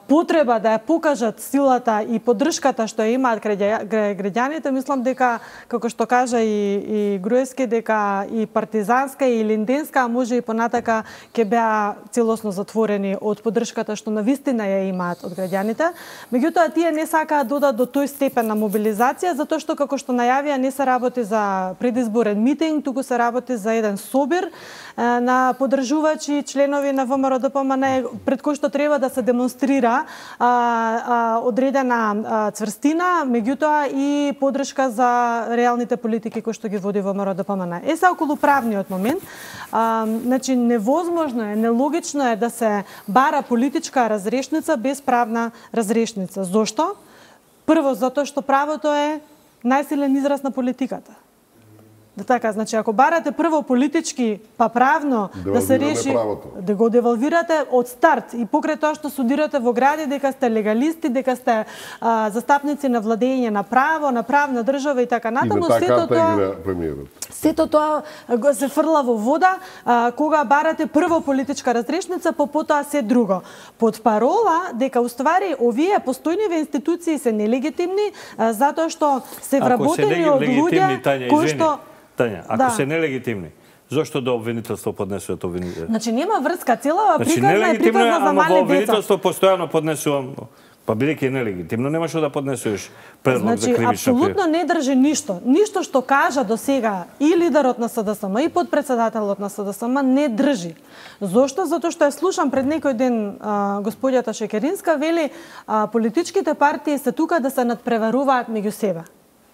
потреба да ја покажат силата и поддршката што ја имаат граѓаните, мислам дека, како што кажа и, и Груевски, дека и партизанска и линденска, а може и понатака ќе беа целосно затворени од поддршката што навистина ја имаат од граѓаните. Меѓутоа, тие не сакаат додат до тој степен на мобилизација, затоа што, како што најавија, не се работи за предизборен митинг, туку се работи за еден собир на поддржувачи членови на ВМРО Д П М Н, пред кој што треба да се демонстрира а, а, одредена а, цврстина, меѓутоа и поддршка за реалните политики кои што ги води ВМРО Д П М Н. Е, са околу правниот момент, а, значи невозможно е, нелогично е да се бара политичка разрешница без правна разрешница. Зошто? Прво, затоа што правото е најсилен израз на политиката. Да така, значи ако барате прво политички, па правно да се реши, правото. Да го девалвирате од старт и покрај тоа што судирате во гради дека сте легалисти, дека сте а, застапници на владење на право, на правна држава и така натаму, сето тоа сето тоа го се фрла во вода а, кога барате прво политичка разрешница, по потоа се друго. Под парола дека уствари овие постојниве институции се нелегитимни а, затоа што се вработени од луѓе кои што Тања, ако да. се нелегитимни, зошто до обвинителство поднесуват обвинителство? Значи нема врска, целава значи, приказна е приказна за мали деца. Обвинителство постојано поднесувам, па бидејќи нелегитимно, немаше да поднесуваш предлог значи, за кривична пријава. Апсолутно не држи ништо. Ништо што кажа до сега и лидерот на С Д С М и подпредседателот на С Д С М не држи. Зошто? Затоа што ја слушам пред некој ден а, господјата Шекеринска, вели а, политичките партии се тука да се надпреваруваат меѓу себе.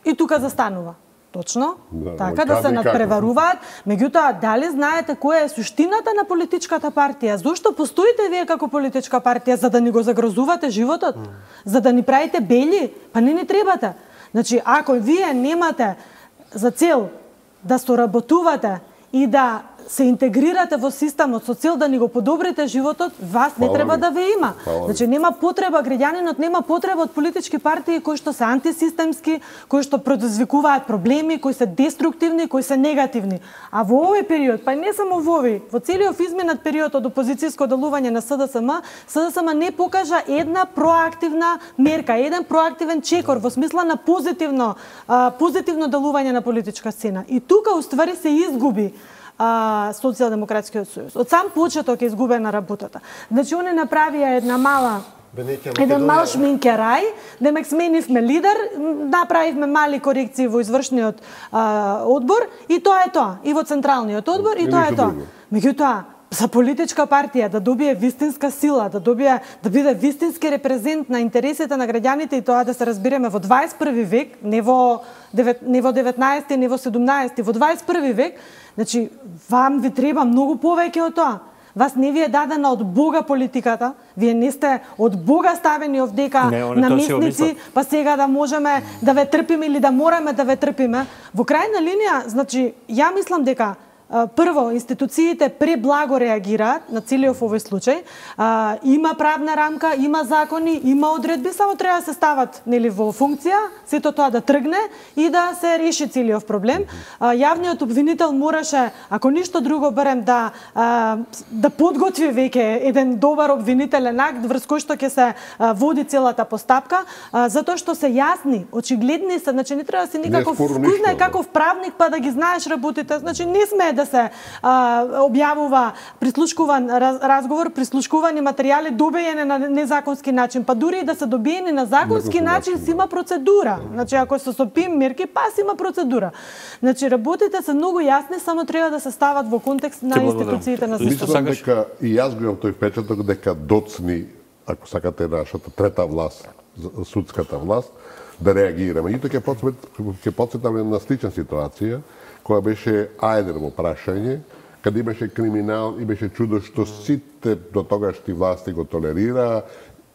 И тука застанува. Точно, да, така да се надпреваруваат. Меѓутоа, дали знаете која е суштината на политичката партија? Зошто постоите вие како политичка партија? За да ни го загрозувате животот? Mm. За да ни правите бели? Па не ни требате. Значи, ако вие немате за цел да соработувате и да се интегрирате во системот со цел да ни го подобрите животот, вас не треба да ве има. Значи нема потреба, граѓанинот нема потреба од политички партии кои што се антисистемски, кои што предизвикуваат проблеми, кои се деструктивни, кои се негативни. А во овој период, па не само во овој, во целиот изминат период од опозицијско делување на С Д С М, С Д С М не покажа една проактивна мерка, еден проактивен чекор во смисла на позитивно, а, позитивно делување на политичка сцена. И тука уствари се изгуби Социјалдемократскиот сојуз. Од сам почеток е изгубена работата. Значи, они направија една мала еден мал шминкерај, демек сменивме лидер, направивме мали корекции во извршниот а, одбор и тоа е тоа. И во централниот одбор и, и тоа е тоа. Меѓутоа, за политичка партија да добие вистинска сила, да добие да биде вистински репрезент на интересите на граѓаните и тоа да се разбереме во дваесет и први век, не во не во деветнаесети, не во седумнаесети, во дваесет и први век, значи вам ви треба многу повеќе од тоа. Вас не ви е дадена од Бога политиката, вие не сте од Бога ставени овдека наместници, па сега да можеме да ве трпиме или да мораме да ве трпиме. Во крајна линија, значи, ја мислам дека прво, институциите преблаго реагираат на целиот овој случај. А, има правна рамка, има закони, има одредби, само треба да се стават нели во функција, сето тоа да тргне и да се реши целиот проблем. А, јавниот обвинител мораше, ако ништо друго барем да а, да подготви веќе еден добар обвинителен акт врз кој што ќе се а, води целата постапка, а, затоа што се јасни, очигледни се, значи не треба да си никаков кој знае каков правник па да ги знаеш работите, значи не смее да да се а, објавува прислушкуван раз, разговор, прислушкувани материјали добиени на незаконски начин, па дури и да се добиени на законски начин, си има процедура. Значи ако се со пим мерки, па си има процедура. Значи работите се многу јасни, само треба да се стават во контекст на институциите на системот. Мислам дека и јас го имам тој впечаток дека доцни, ако сакате, нашата трета власт, судската власт, да реагира. Меѓутоа ќе потсетам на слична ситуација, која беше Ајдер во прашање, каде имаше криминал и беше чудо што сите до тогашни власти го толерира,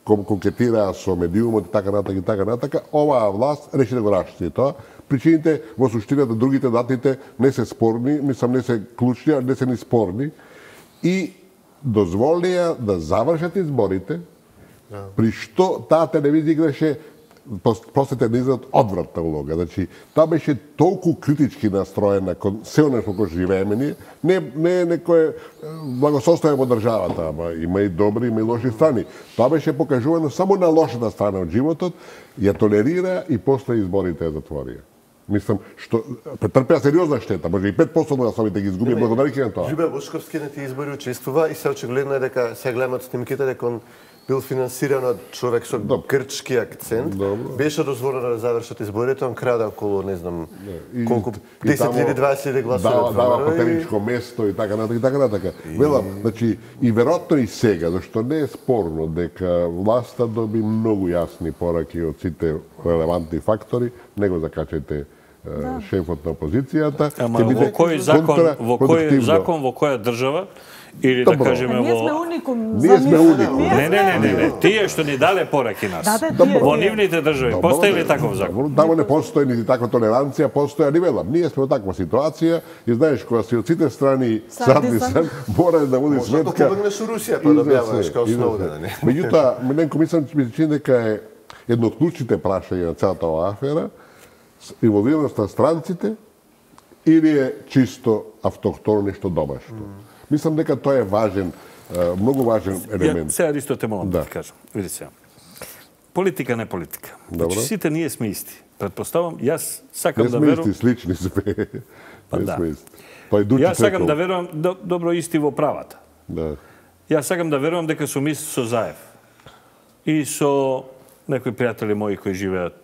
конкетираа со медиумот и така натака и така натака, оваа власт реши да го расчисти тоа. Причините во суштината другите датите не се спорни, мислам не се клучни, а не се ни спорни и дозволија да завршат изборите, при што таа телевизија играше простите низот одвратна улога. Значи, тоа беше толку критички настроена кон се оно што го живееме ние, не не некое благосостојание во државата, ама има и добри, има и лоши страни. Тоа беше покажувано само на лошата страна од животот, ја толерира и после изборите ја затворија. Мислам, што претрпеа сериозна штета, може и пет проценти од гласовите ги изгуби благодарение на тоа. Љубе Бошковски на тие избори учествува и се очигледно е дека се гледат снимките дека он бил финансиран од човек со грчки акцент. Добро. Беше дозволено да завршат изборите, он краде околу, не знам, и, колку, десет или дваесет или гласови. Дава, дава хотеличко место и така натака и така натака. И... Велам, значи, и веројатно и сега, зашто не е спорно дека власта доби многу јасни пораки од сите релевантни фактори, не го закачате да. Шефот на опозицијата. Ама во кој закон, во кој закон, во која држава, или да кажеме во... Ние сме уникум. Ние сме уникум. Не, не, не, не, не. Тие што ни дале пораки нас. Во нивните држави постои ли таков закон? Тамо не постои нити таква толеранција, постои, али велам, ние сме во таква ситуација и знаеш кога си од сите страни садни сам, мора да води сметка. Може да побегнеш со Русија, па да објаваш као Сноуден. Меѓутоа, мененко мислам, ми се чини дека е едно од клучните прашања на целата оваа афера, инволвираност на странците или е чисто автохтоно нешто домашно. Мислам дека тоа е важен, многу важен елемент. Ја, сега исто те молам да ти кажам. Види сега. Политика не политика. Значи сите ние сме исти. Предпоставам, јас сакам да верувам... Не сме исти, слични сме. Па да. Јас сакам да верувам добро исти во правата. Да. Јас сакам да верувам дека сум ист со Заев. И со некои пријатели мои кои живеат,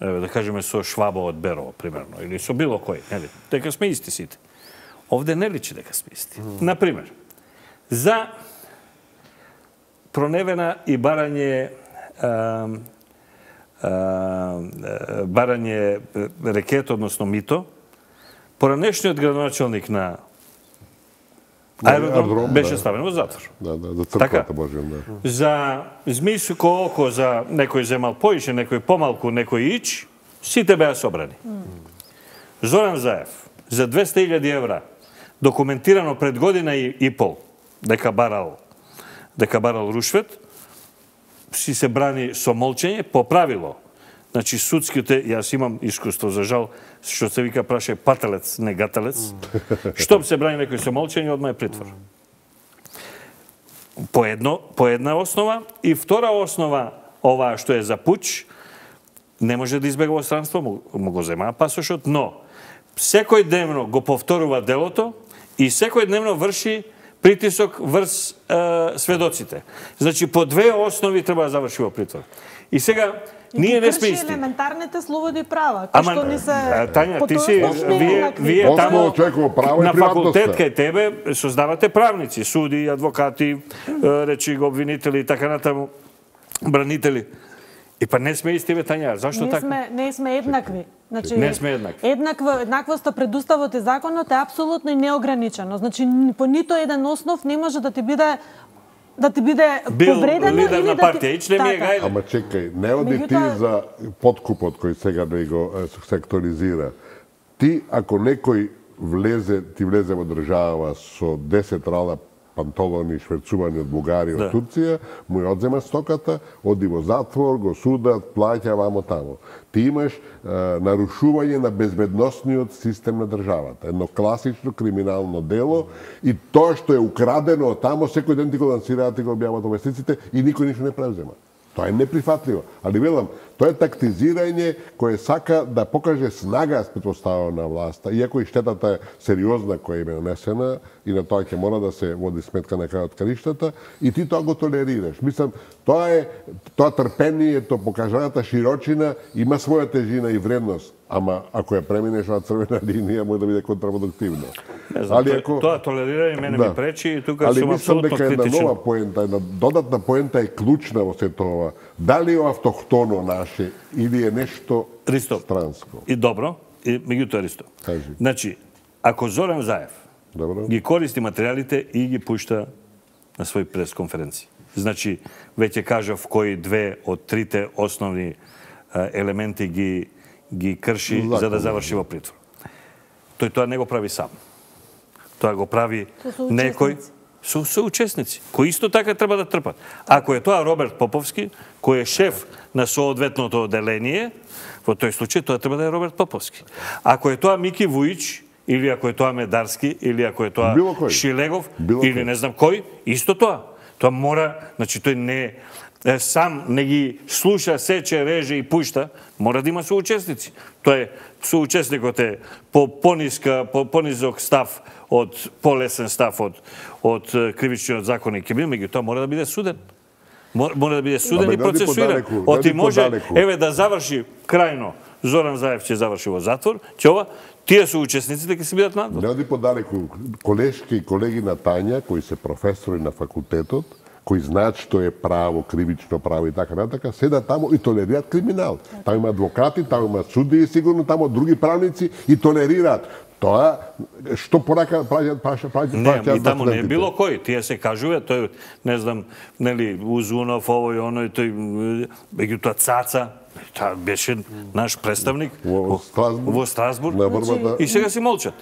еве да кажеме со Швабо од Берово, примерно, или со било кој, нели? Дека сме исти сите. Овде не личи дека сме исти. Mm. Например, за проневена и барање а, а, барање рекет, односно мито, поранешниот градоначалник на аеродром беше да. Ставен во затвор. Да, да, за црквата можем, да. За змиско око, за некој земал поише, некој помалку, некој ич, сите беа собрани. Mm. Зоран Заев, за двесте илјади евра, документирано пред година и, и пол, дека барал, дека барал рушвет, си се брани со молчење по правило. Значи, судските, јас имам искуство, за жал, што се вика праше пателец, не гателец, што се брани некој со молчење, одма е притвор. По, едно, по една основа, и втора основа, ова што е за пуч, не може да избега во странство, му, му го земаа пасошот, но секој дневно го повторува делото и секој дневно врши притисок врз е, сведоците. Значи, по две основи треба да заврши во притвор. И сега, и ние не сме исти. Елементарните слободи и права, кои што ни се... Тања, ти си, вие, вие тамо на факултет кај тебе создавате правници, суди, адвокати, речи го обвинители и така натаму, бранители. И па не сме исти, бе, Тања, зашто не така? Сме, не сме еднакви. Значи, не сме еднакви. Еднаква, еднаквоста пред уставот и законот е апсолутно и неограничено. Значи, по нито еден основ не може да ти биде да ти биде бил повредено лидер или на да партија, ти... ич не ми е гајле. Ама чекај, не оди ти Меѓутоа... за подкупот кој сега да го секторизира. Ти, ако некој влезе, ти влезе во држава со десет рала панталони шверцувани од Бугарија, од да. Турција, му ја одзема стоката, оди во затвор, го судат, плаќа вамо тамо. Ти имаш е, нарушување на безбедносниот систем на државата. Едно класично криминално дело и тоа што е украдено од тамо, секој ден ти го лансираат и го објават во вестниците и никој ништо не превзема. Тоа е неприфатливо. Али велам, Тоа е тактизирање кое сака да покаже снага спретпоставено на власта, иако и штетата е сериозна која им е нанесена и на тоа ќе мора да се води сметка на крајот кариштата и ти тоа го толерираш. Мислам, тоа е тоа трпението, покажаната широчина има своја тежина и вредност. Ама ако ја преминеш на црвена линија, може да биде контрапродуктивно. Знам, али ако тоа толерирање мене да. ми пречи и тука сум апсолутно критичен. Али мислам дека една нова поента, една додатна поента е клучна во сето ова. Дали е автохтоно наше или е нешто Ристо, странско? И добро, и меѓутоа Ристо. Кажи. Значи, ако Зоран Заев добро. ги користи материјалите и ги пушта на своји пресконференции. Значи, веќе кажав кои две од трите основни елементи ги ги крши Закон. за да заврши во притвор. Тој тоа не го прави сам. Тоа го прави некој со соучесници, кои исто така треба да трпат. Ако е тоа Роберт Поповски, кој е шеф на соодветното одделение, во тој случај тоа треба да е Роберт Поповски. Ако е тоа Мики Вуич, или ако е тоа Медарски, или ако е тоа Шилегов, Било или кој. не знам кој, исто тоа. Тоа мора, значи тој не сам не ги слуша, сече, реже и пушта, мора да има соучесници. Тоа е соучесникот е по пониска, по понизок став од полесен став од од кривичниот законник, меѓутоа мора да биде суден. Мора да биде суден и процесуиран. Оти може еве да заврши крајно Зоран Заев ќе заврши во затвор, ќе ова тие соучесниците ќе се бидат надвор. Не оди подалеку, колешки и колеги на Тања кои се професори на факултетот, кои знаат што е право, кривично право и така натака, седат таму и толерираат криминал. Таму има адвокати, таму има судии, сигурно таму други правници и толерираат. Тоа што порака праќаат праќаат праќаат Не, и таму не е било кој, тие се кажува, тој не знам, нели Узунов, овој оној, тој меѓутоа Цаца, тоа беше наш представник во Страсбург. Во Страсбург. На борбата. И сега си молчат.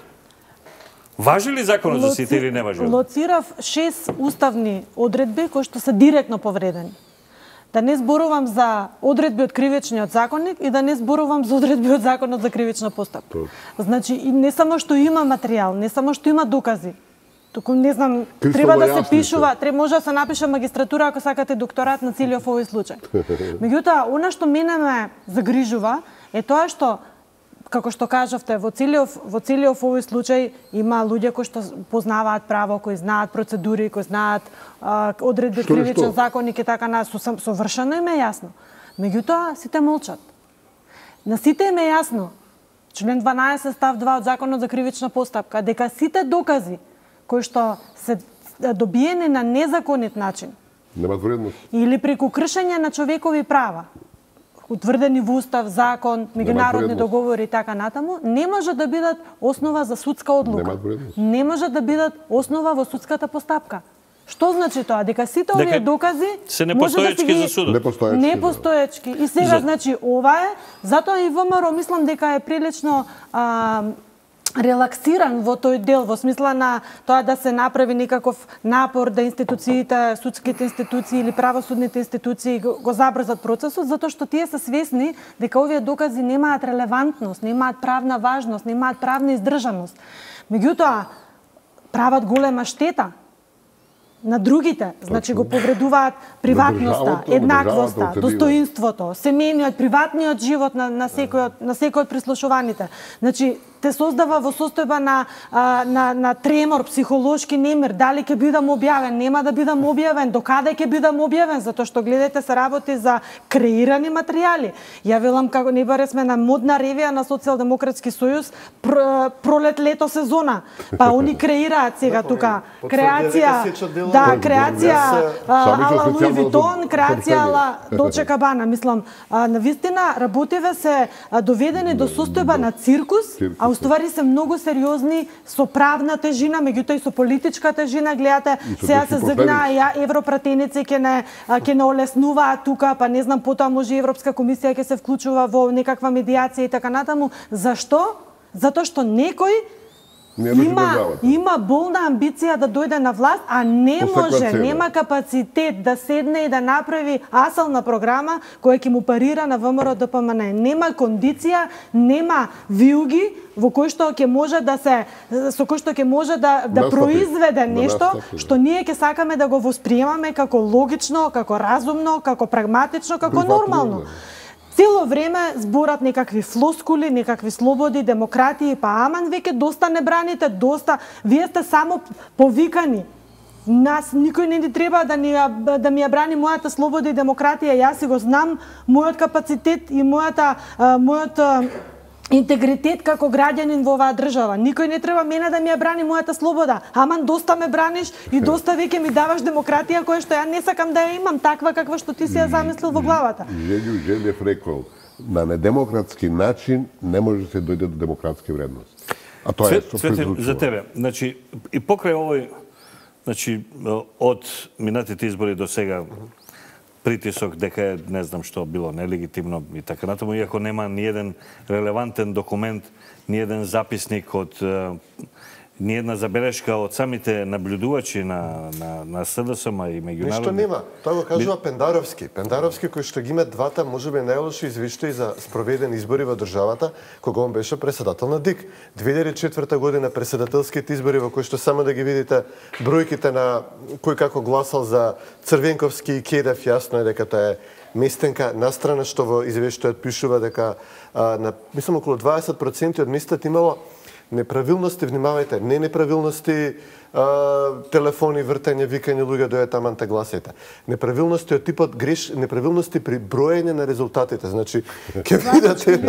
Важи ли законот за сите или не важи? Лоцирав шест уставни одредби кои што се директно повредени. Да не зборувам за одредби од кривичниот законник и да не зборувам за одредби од законот за кривична постапка. Значи, и не само што има материјал, не само што има докази, туку не знам, треба да се пишува, треба може да се напише магистратура ако сакате докторат на целиот овој случај. Меѓутоа, она што мене ме загрижува е тоа што како што кажавте, во целиот во целиот овој случај има луѓе кои што познаваат право, кои знаат процедури, кои знаат а, одредби кривичен законник и така на со совршено им е јасно. Меѓутоа сите молчат. На сите им е јасно, член дванаесет став два од Законот за кривична постапка, дека сите докази кои што се добиени на незаконит начин, немаат вредност или преку кршење на човекови права, утврдени во устав, закон, меѓународни договори и така натаму, не може да бидат основа за судска одлука. Не може да бидат основа во судската постапка. Што значи тоа? Дека сите овие докази се непостоечки да за судот. Непостоечки. Непостоечки. И сега за... значи ова е, затоа и ВМРО мислам дека е прилично а, релаксиран во тој дел, во смисла на тоа да се направи некаков напор да институциите, судските институции или правосудните институции го, го забрзат процесот, затоа што тие се свесни дека овие докази немаат релевантност, немаат правна важност, немаат правна издржаност. Меѓутоа, прават голема штета на другите, значи го повредуваат приватноста, еднаквоста, достоинството, семејниот, приватниот живот на, на секој од на секој од прислушуваните. Значи те создава во состојба на, а, на, на тремор, психолошки немир, дали ќе бидам објавен, нема да бидам објавен, до каде ќе бидам објавен, затоа што гледате се работи за креирани материјали. Ја велам како не баре сме на модна ревија на Социјалдемократски сојуз, пр, пролет, лето, сезона. Па они креираат сега тука креација, да, креација ала Луи Витон, креација ала Долче Кабана, мислам, на вистина работиве се доведени до состојба на циркус, а уствари се многу сериозни со правна тежина, меѓутоа и со политичка тежина. Гледате, сега се загна ја европратеници ќе не ќе не олеснуваат тука, па не знам, потоа може и Европска комисија ќе се вклучува во некаква медиација и така натаму. Зашто? Затоа што некој има има болна амбиција да дојде на власт, а не може, нема капацитет да седне и да направи асална програма која ќе му парира на ВМРО Д П М Н. Нема кондиција, нема вилги во кој што ќе може да се со кој што ќе може да да произведе нешто што ние ќе сакаме да го восприемаме како логично, како разумно, како прагматично, како нормално. Цело време зборат некакви флоскули, некакви слободи, демократии, па аман веќе доста не браните, доста, вие сте само повикани. Нас никој не ни треба да, ни, да ми ја брани мојата слобода и демократија. Јас си го знам, мојот капацитет и мојата, мојот интегритет како граѓанин во оваа држава. Никој не треба мене да ми ја брани мојата слобода. Аман доста ме браниш и доста веќе ми даваш демократија која што ја не сакам да ја имам таква каква што ти си ја замислил во главата. Желју Желев рекол, на недемократски начин не може да се дојде до демократски вредности. А тоа е Цвете, за тебе. Значи и покрај овој, значи од минатите избори до сега притисок дека е не знам што било нелегитимно и така натаму, иако нема ни еден релевантен документ, ни еден записник од ни една забелешка од самите наблюдувачи на на на СДСМ и меѓународни. Ништо нема. Тоа го кажува Пендаровски. Пендаровски кој што ги има двата можеби најлоши извештаи за спроведени избори во државата кога он беше председател на ДИК. две илјади и четврта година председателските избори во кои што само да ги видите бројките на кој како гласал за Црвенковски и Кедев, јасно е дека тоа е местенка, настрана што во извештајот пишува дека а, на мислам околу дваесет проценти од местата имало неправилности, внимавајте, не неправилности, а, телефони, вртење, викање, луѓе дојдат таман те гласајте. Неправилности од типот греш, неправилности при броење на резултатите. Значи, ќе видите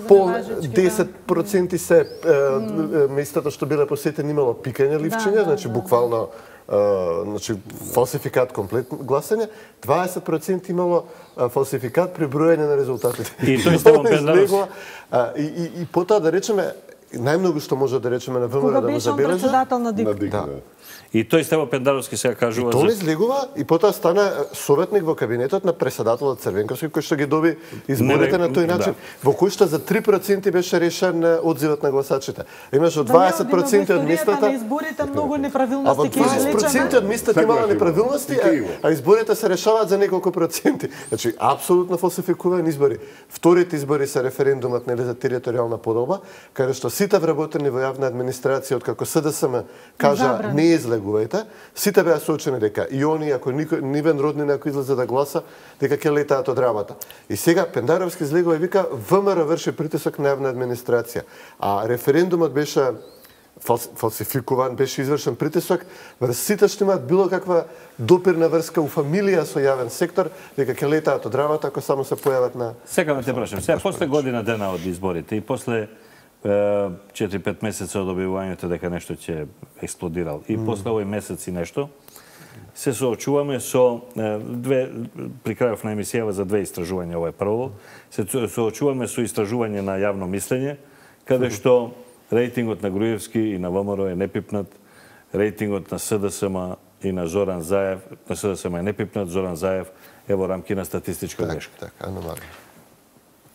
по десет проценти се mm. местата што биле посетени имало пикање ливчиња, да, значи да, буквално Uh, значи, фалсификат комплет гласање, дваесет проценти имало uh, фалсификат при броење на резултатите. И тој Стеван Пендаровски. И, и, и потоа да речеме, најмногу што може да речеме на ВМРО да го забележи. Кога беше председател на ДИК. Да. И тој Стево Пендаровски сега кажува и тоа излегува и потоа стана советник во кабинетот на председателот Црвенковски кој што ги доби изборите на тој начин. Да. Во кој што за три проценти беше решен одзивот на гласачите. Имаше дваесет проценти од местата. На изборите многу неправилности. А во дваесет проценти од местата имало неправилности, а, а изборите се решаваат за неколку проценти. Значи апсолутно фалсификувани избори. Вторите избори се референдумот нели за територијална поделба, каде што сите вработени во јавна администрација откако СДСМ кажа не изле гувајте, сите беа соочени дека и они, ако никој, нивен роднина, ако излезе да гласа, дека ќе летаат од работа. И сега Пендаровски излегува и вика, ВМРО врши притисок на јавна администрација. А референдумот беше фалсификуван, беше извршен притисок врз сите што имаат било каква допирна врска у фамилија со јавен сектор, дека ќе летаат од работа ако само се појават на... Сега да те прашам, сега после година дена од изборите и после четири-пет месеца од објавувањето дека нешто ќе експлодирал и после овој месец и нешто, се соочуваме со две, при крајов на емисијава за две истражувања, ова е прво, се соочуваме со истражување на јавно мислење, каде што рейтингот на Груевски и на ВМРО е непипнат, рейтингот на СДСМ и на Зоран Заев, на СДСМ е непипнат, Зоран Заев е во рамки на статистичка грешка. Так, так, аномалија.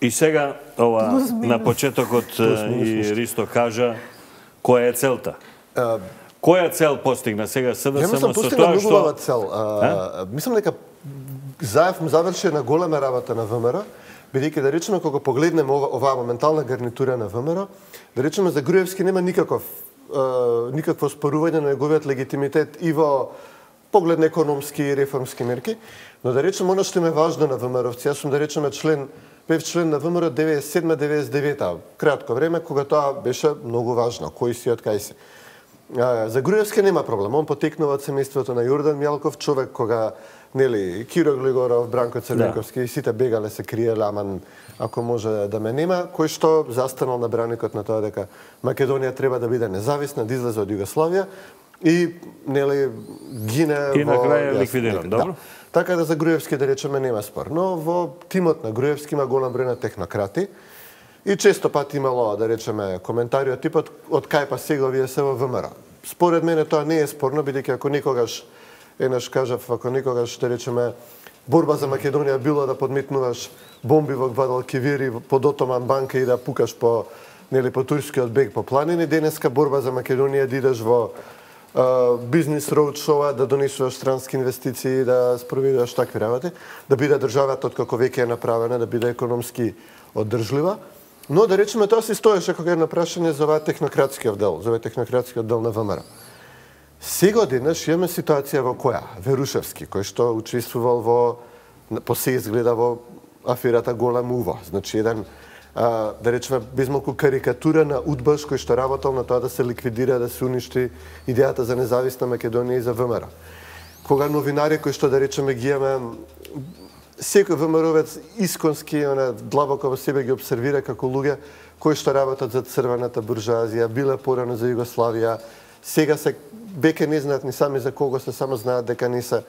И сега, ова, на почетокот и Ристо кажа, која е целта? Uh, која цел постигна сега СДСМ со тоа што... Ја мислам, цел. Uh, мислам дека Заев му заврши на голема работа на ВМРО, бидејќи да речеме, кога погледнеме ова, оваа моментална гарнитура на ВМРО, да речеме за Груевски нема никаков, uh, никакво спорување на неговиот легитимитет и во поглед на економски и реформски мерки, но да речеме, оно што им е важно на ВМРО-вци, јас сум да речеме член бев член на ВМРО деветдесет и седма деветдесет и девета, кратко време, кога тоа беше многу важно, кој си од кај си. За Груевски нема проблем, он потекнува од семејството на Јордан Мјалков, човек кога, нели, Киро Глигоров, Бранко Црвенковски, да. И сите бегале се криеле, аман, ако може да ме нема, кој што застанал на браникот на тоа дека Македонија треба да биде независна, да излезе од Југославија и, нели, гине и во... И на крај е ликвидиран, добро? Да. Така да за Груевски да речеме нема спор. Но во тимот на Груевски има голем број на технократи и често пати имало, да речеме, коментари од типот од кај па сега вие се во ВМРО. Според мене тоа не е спорно, бидејќи ако никогаш, еднаш кажав, ако никогаш, да речеме, борба за Македонија било да подметнуваш бомби во Гвадалкивир и под Отоман банка и да пукаш по, нели, по турскиот бег по планини, денеска борба за Македонија да идеш во Uh, бизнес роудшоу, да донесуваш странски инвестиции, да спроведуваш такви работи, да биде државата откако веќе е направена, да биде економски оддржлива. Но да речеме тоа се стоеше кога е на прашање за оваа технократскиот дел, за овој технократскиот дел на ВМРО. Сега денес имаме ситуација во која Верушевски, кој што учествувал во по се изгледа во аферата Голем Ува. Значи, еден, а, да речеме, безмалку карикатура на удбаш кој што работел на тоа да се ликвидира, да се уништи идејата за независна Македонија и за ВМРО. Кога новинари кои што, да речеме, ги имаме, секој ВМРО-вец исконски, она, длабоко во себе ги обсервира како луѓе кои што работат за црвената буржуазија, биле порано за Југославија, сега се веќе не знаат ни сами за кого се, само знаат дека не се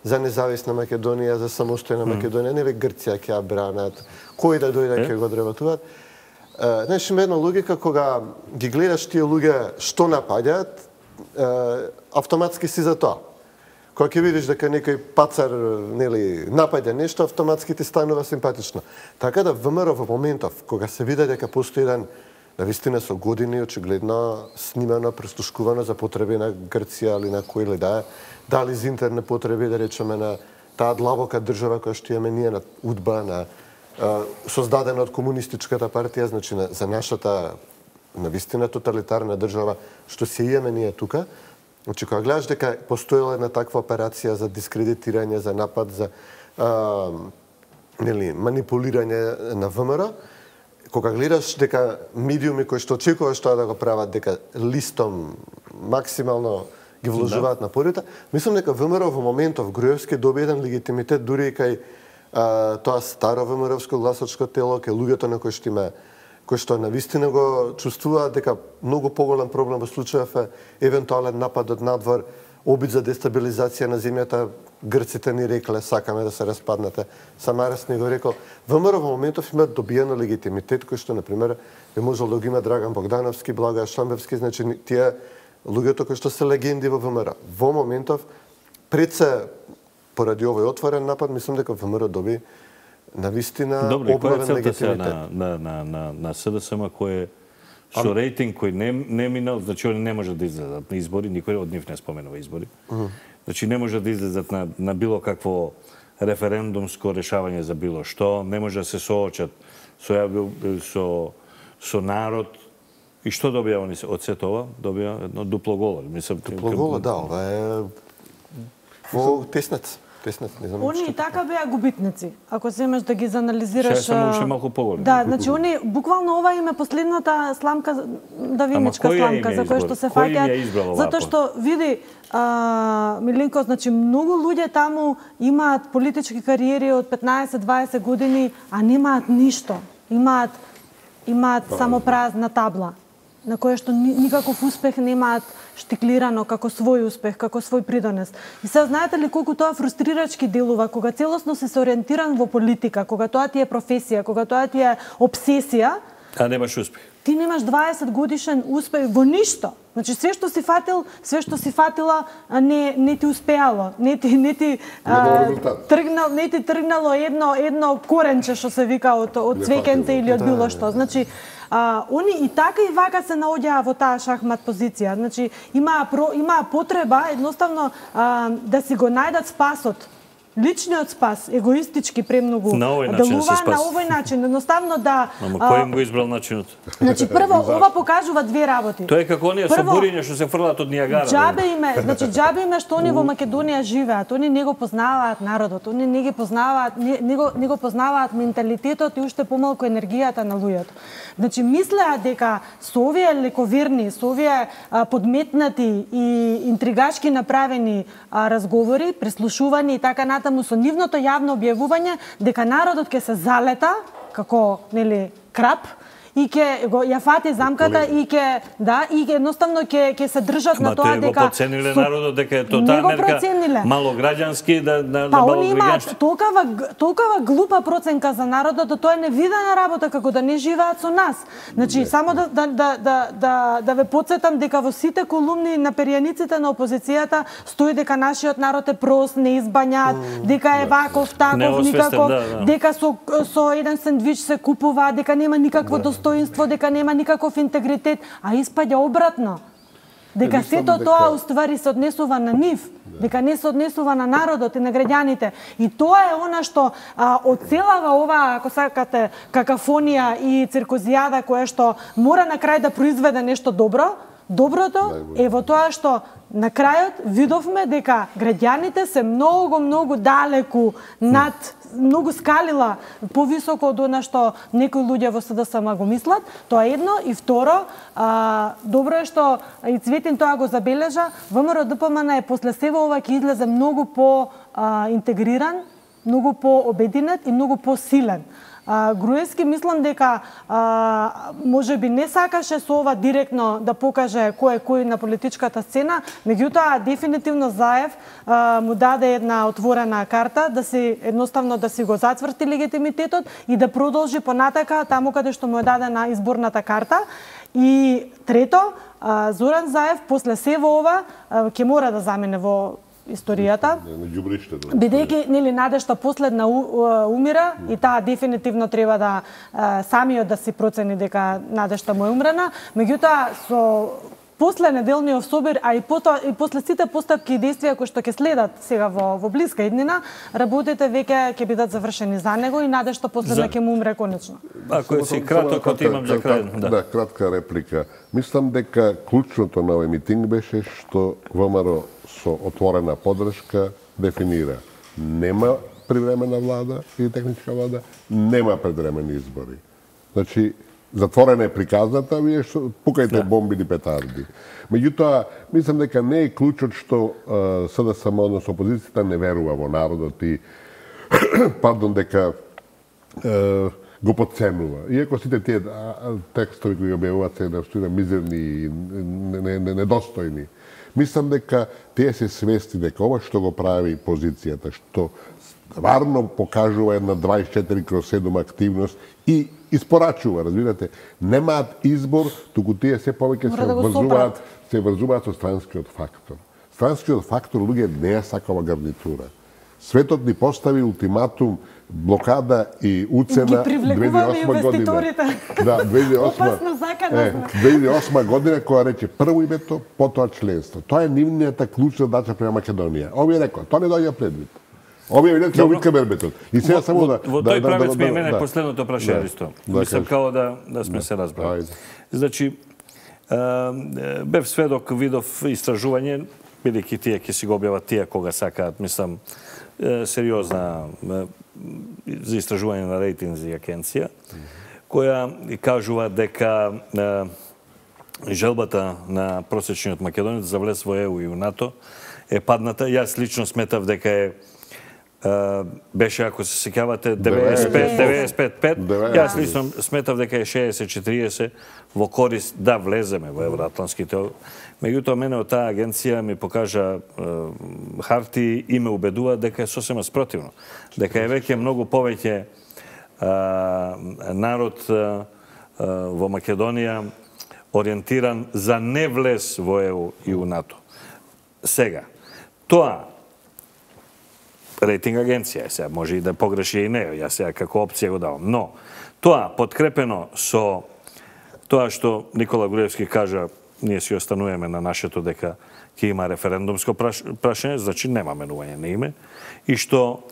за независна Македонија, за самостојна Македонија, нели Грција ќе ја бранат, кој да дојде ќе го одработуваат. Знаеш, има една логика кога ги гледаш тие луѓе што напаѓаат, автоматски си за тоа. Кога ќе видиш дека некој пацар, нели, напаѓа нешто, автоматски ти станува симпатично. Така да ВМРО во моментов кога се види дека постои еден навистина со години очигледно снимано, престушкувано за потреби на Грција или на кој ли да е, дали за интернет потреби, да речеме, на таа длабока држава која што имаме ние, на УДБА, на а, создадена од комунистичката партија, значи на, за нашата навистина тоталитарна држава што се имаме ние тука. Значи, кога гледаш дека постоела една таква операција за дискредитирање, за напад, за а, нели, манипулирање на ВМРО, кога гледаш дека медиуми кои што очекуваш тоа да го прават, дека листом максимално ги вложуваат да. напорите, мислам дека ВМРО во моментов Груевски доби еден легитимитет дури и кај а, тоа старо ВМРО-вско гласачко тело, кај луѓето на кои што има кои што навистина го чувствуваат дека многу поголем проблем во случајов е евентуален напад од надвор, обид за дестабилизација на земјата. Грците ни рекле, сакаме да се распаднете. Самарас ни го рекол. ВМРО во моментов има добиено легитимитет, кој што, например, би можел да го има Драган Богдановски, Благоја Шамбевски, значи тие луѓето кои што се легенди во ВМРО. Во моментов, пред се, поради овој отворен напад, мислам дека ВМРО доби навистина обновен легитимитет. На, на, на, на, на СДСМ кој е со рейтинг кој не, не минал, значи они не можат да излезат на избори, никој од нив не споменува избори. Uh -huh. Значи не можат да излезат на, на било какво референдумско решавање за било што, не може да се соочат со, со, со народ. И што добија они од сето ова? Добија едно дупло голо. Мислам, дупло голо, да, ова е во теснец. Они и така беа губитници. Ако земеш да ги заанализираш... Ше само уште малку поголеми. Да, значи они буквално ова им е последната сламка, давиничка сламка за која што се фаќаат. Затоа што види а, Милинко, значи многу луѓе таму имаат политички кариери од петнаесет-дваесет години, а немаат ништо. Имаат имаат само празна табла на која што никаков успех немаат штиклирано како свој успех, како свој придонес. И сега знаете ли колку тоа фрустрирачки делува кога целосно се ориентиран во политика, кога тоа ти е професија, кога тоа ти е обсесија, а немаш успех. Ти немаш дваесет годишен успех во ништо. Значи све што си фатил, све што си фатила не не ти успеало, не ти не ти а, тргнал, не ти тргнало едно едно коренче што се вика од од цвеќенце или од било што. Значи А, они и така и вака се наоѓаа во таа шахмат позиција. Значи, имаа, про, имаа потреба едноставно а, да си го најдат спасот. Личниот спас, егоистички премногу делува на овој начин, едноставно да... Ама кој им го избрал начинот? Значи, прво, ова покажува две работи. Тоа е како оние со буриња што се фрлаат од Нијагара. Џабе име, значи џабе име што они во Македонија живеат, они не го познаваат народот, они не ги познаваат, не, не, го, не го познаваат менталитетот и уште помалку енергијата на луѓето. Значи, мислеа дека со овие лековерни, со овие а, подметнати и интригачки направени а, разговори, преслушувани и така натаму со нивното јавно објавување дека народот ќе се залета како, нели, крап и ќе го ја фати замката и ќе да и ќе едноставно ќе ќе се држат на тоа дека го подцениле народот дека е тоа мерка малограѓански да да па они имаат толкова толкова глупа проценка за народот да тоа е невидена работа како да не живеат со нас. Значи не, само да да да да да, да ве потсетам дека во сите колумни на перијаниците на опозицијата стои дека нашиот народ е прост, неизбањат, mm, дека е ваков, таков, никако, да, да. дека со со еден сендвич се купува, дека нема никакво да. достоинство, дека нема никаков интегритет, а испаѓа обратно. Дека сето тоа уствари се однесува на нив, дека не се однесува на народот и на граѓаните. И тоа е она што а, оцелава ова, ако сакате, какафонија и циркозијада која што мора на крај да произведе нешто добро, доброто е во тоа што на крајот видовме дека граѓаните се многу, многу далеку над, многу скалила повисоко од она што некои луѓе во СДСМ го мислат. Тоа е едно. И второ, а, добро е што и Цветин тоа го забележа, ВМРО-ДПМН е после себе ова ќе излезе многу по а, интегриран, многу по-обединет и многу по-силен. Груевски мислам дека а, може би не сакаше со ова директно да покаже кој е кој на политичката сцена, меѓутоа дефинитивно Заев а, му даде една отворена карта да си едноставно да си го затврти легитимитетот и да продолжи понатака таму каде што му е дадена изборната карта. И трето, а, Зоран Заев после сево ова а, ќе мора да замине во историјата, бидејќи нели надежта последна умира и таа дефинитивно треба да самиот да си процени дека надежта му е умрена, меѓутоа со после неделниот собир, а и потоа и после сите постапки и действија кои што ќе следат сега во во блиска иднина, работите веќе ќе бидат завршени за него и надежта последна ќе му умре конечно. Ако си кратко имам за крај, да. Да, кратка реплика. Мислам дека клучното на овој митинг беше што ВМРО со отворена подршка дефинира нема привремена влада или техничка влада, нема предвремени избори. Значи, затворена е приказната, вие што пукајте да. бомби или петарди. Меѓутоа, мислам дека не е клучот што СДСМ, односно опозицијата, не верува во народот и пардон, дека е, го подценува. Иако сите тие текстови кои објавуваат се наистина мизерни и недостојни. Мислам дека тие се свести дека ова што го прави позицијата, што стварно покажува една дваесет и четири кроз седум активност и испорачува, разбирате, немаат избор, туку тие се повеќе се да врзуваат, се врзуваат со странскиот фактор. Странскиот фактор луѓе не е сакава гарнитура. Светот ни постави ултиматум, блокада и уцена две илјади и осма година. Да, две илјади и осма. Е, две илјади и осма година која рече прво името, потоа членство. Тоа е нивнината клучна задача према Македонија. Овие рекоа, тоа не доаѓа предвид. Овие видат како витка бербетот. И сега само да во тој правец ми е мене последното прашање исто. Мислам као да да сме се разбрали. Значи бев сведок, видов истражување, бидејќи тие ќе си го објават тие кога сакаат, мислам сериозна за истражување на рейтинзи агенција, која кажува дека желбата на просечниот македонец за влез во Е У и во НАТО е падната. Јас лично сметав дека е беше, ако се сеќавате, деветдесет и пет пет. Јас лично сметав дека е шеесет четириесет во корист да влеземе во евроатлантските. Меѓутоа, мене од таа агенција ми покажа харти и ме убедува дека е сосема спротивно. Дека е веќе многу повеќе народ во Македонија ориентиран за не влез во Е У и во НАТО. Сега, тоа рейтинг агенција, сега може и да погреши и не, јас сега како опција го давам. Но, тоа подкрепено со тоа што Никола Груевски кажа, ние си остануваме на нашето дека ќе има референдумско прашање, значи нема менување на име, и што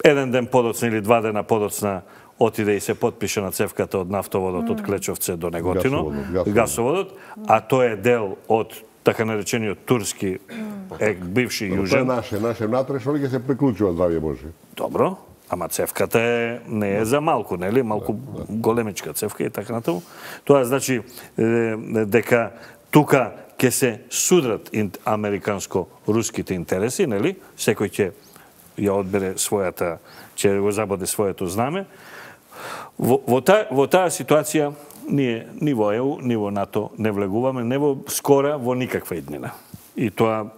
еден ден подоцна или два дена подоцна отиде и се потпише на цевката од нафтоводот од Клечовце до Неготино, гасоводот, а тоа е дел од така наречениот турски е бивши южен. Тоа е наше, наше внатрешно ќе се приклучува, здравје Боже. Добро, ама цевката е, не е за малку, нели? Малку големичка цевка и така натаму. Тоа значи дека тука ќе се судрат американско-руските интереси, нели? Секој ќе ја одбере својата, ќе го забоде своето знаме. Во, во, та, во таа ситуација ние ни во Е У, ни во НАТО не влегуваме, не во скора, во никаква иднина. И тоа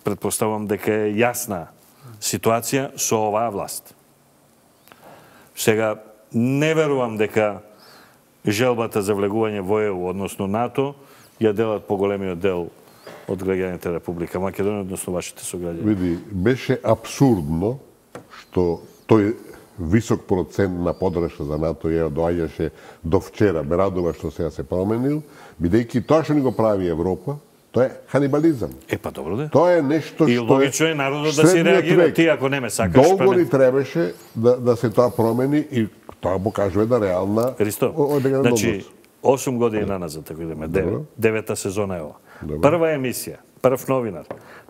предпоставувам дека е јасна ситуација со оваа власт. Сега, не верувам дека желбата за влегување во Е У, односно НАТО, ја делат поголемиот дел од граѓаните Република Македонија, односно вашите сограѓани. Види, беше абсурдно што тој висок процент на подршка за НАТО ја доаѓаше до вчера. Ме радува што сега се променил, бидејќи тоа што ни го прави Европа, тоа е ханибализам. Е, па добро да. Тоа е нешто што и логично е народот да си реагира. Ти ако не ме сакаш, долго ни требаше да, да се тоа промени и тоа покажува да реална Ристо, значи, осум години наназад, ако идеме, девет, девета сезона е ова. Прва емисија, прв новинар,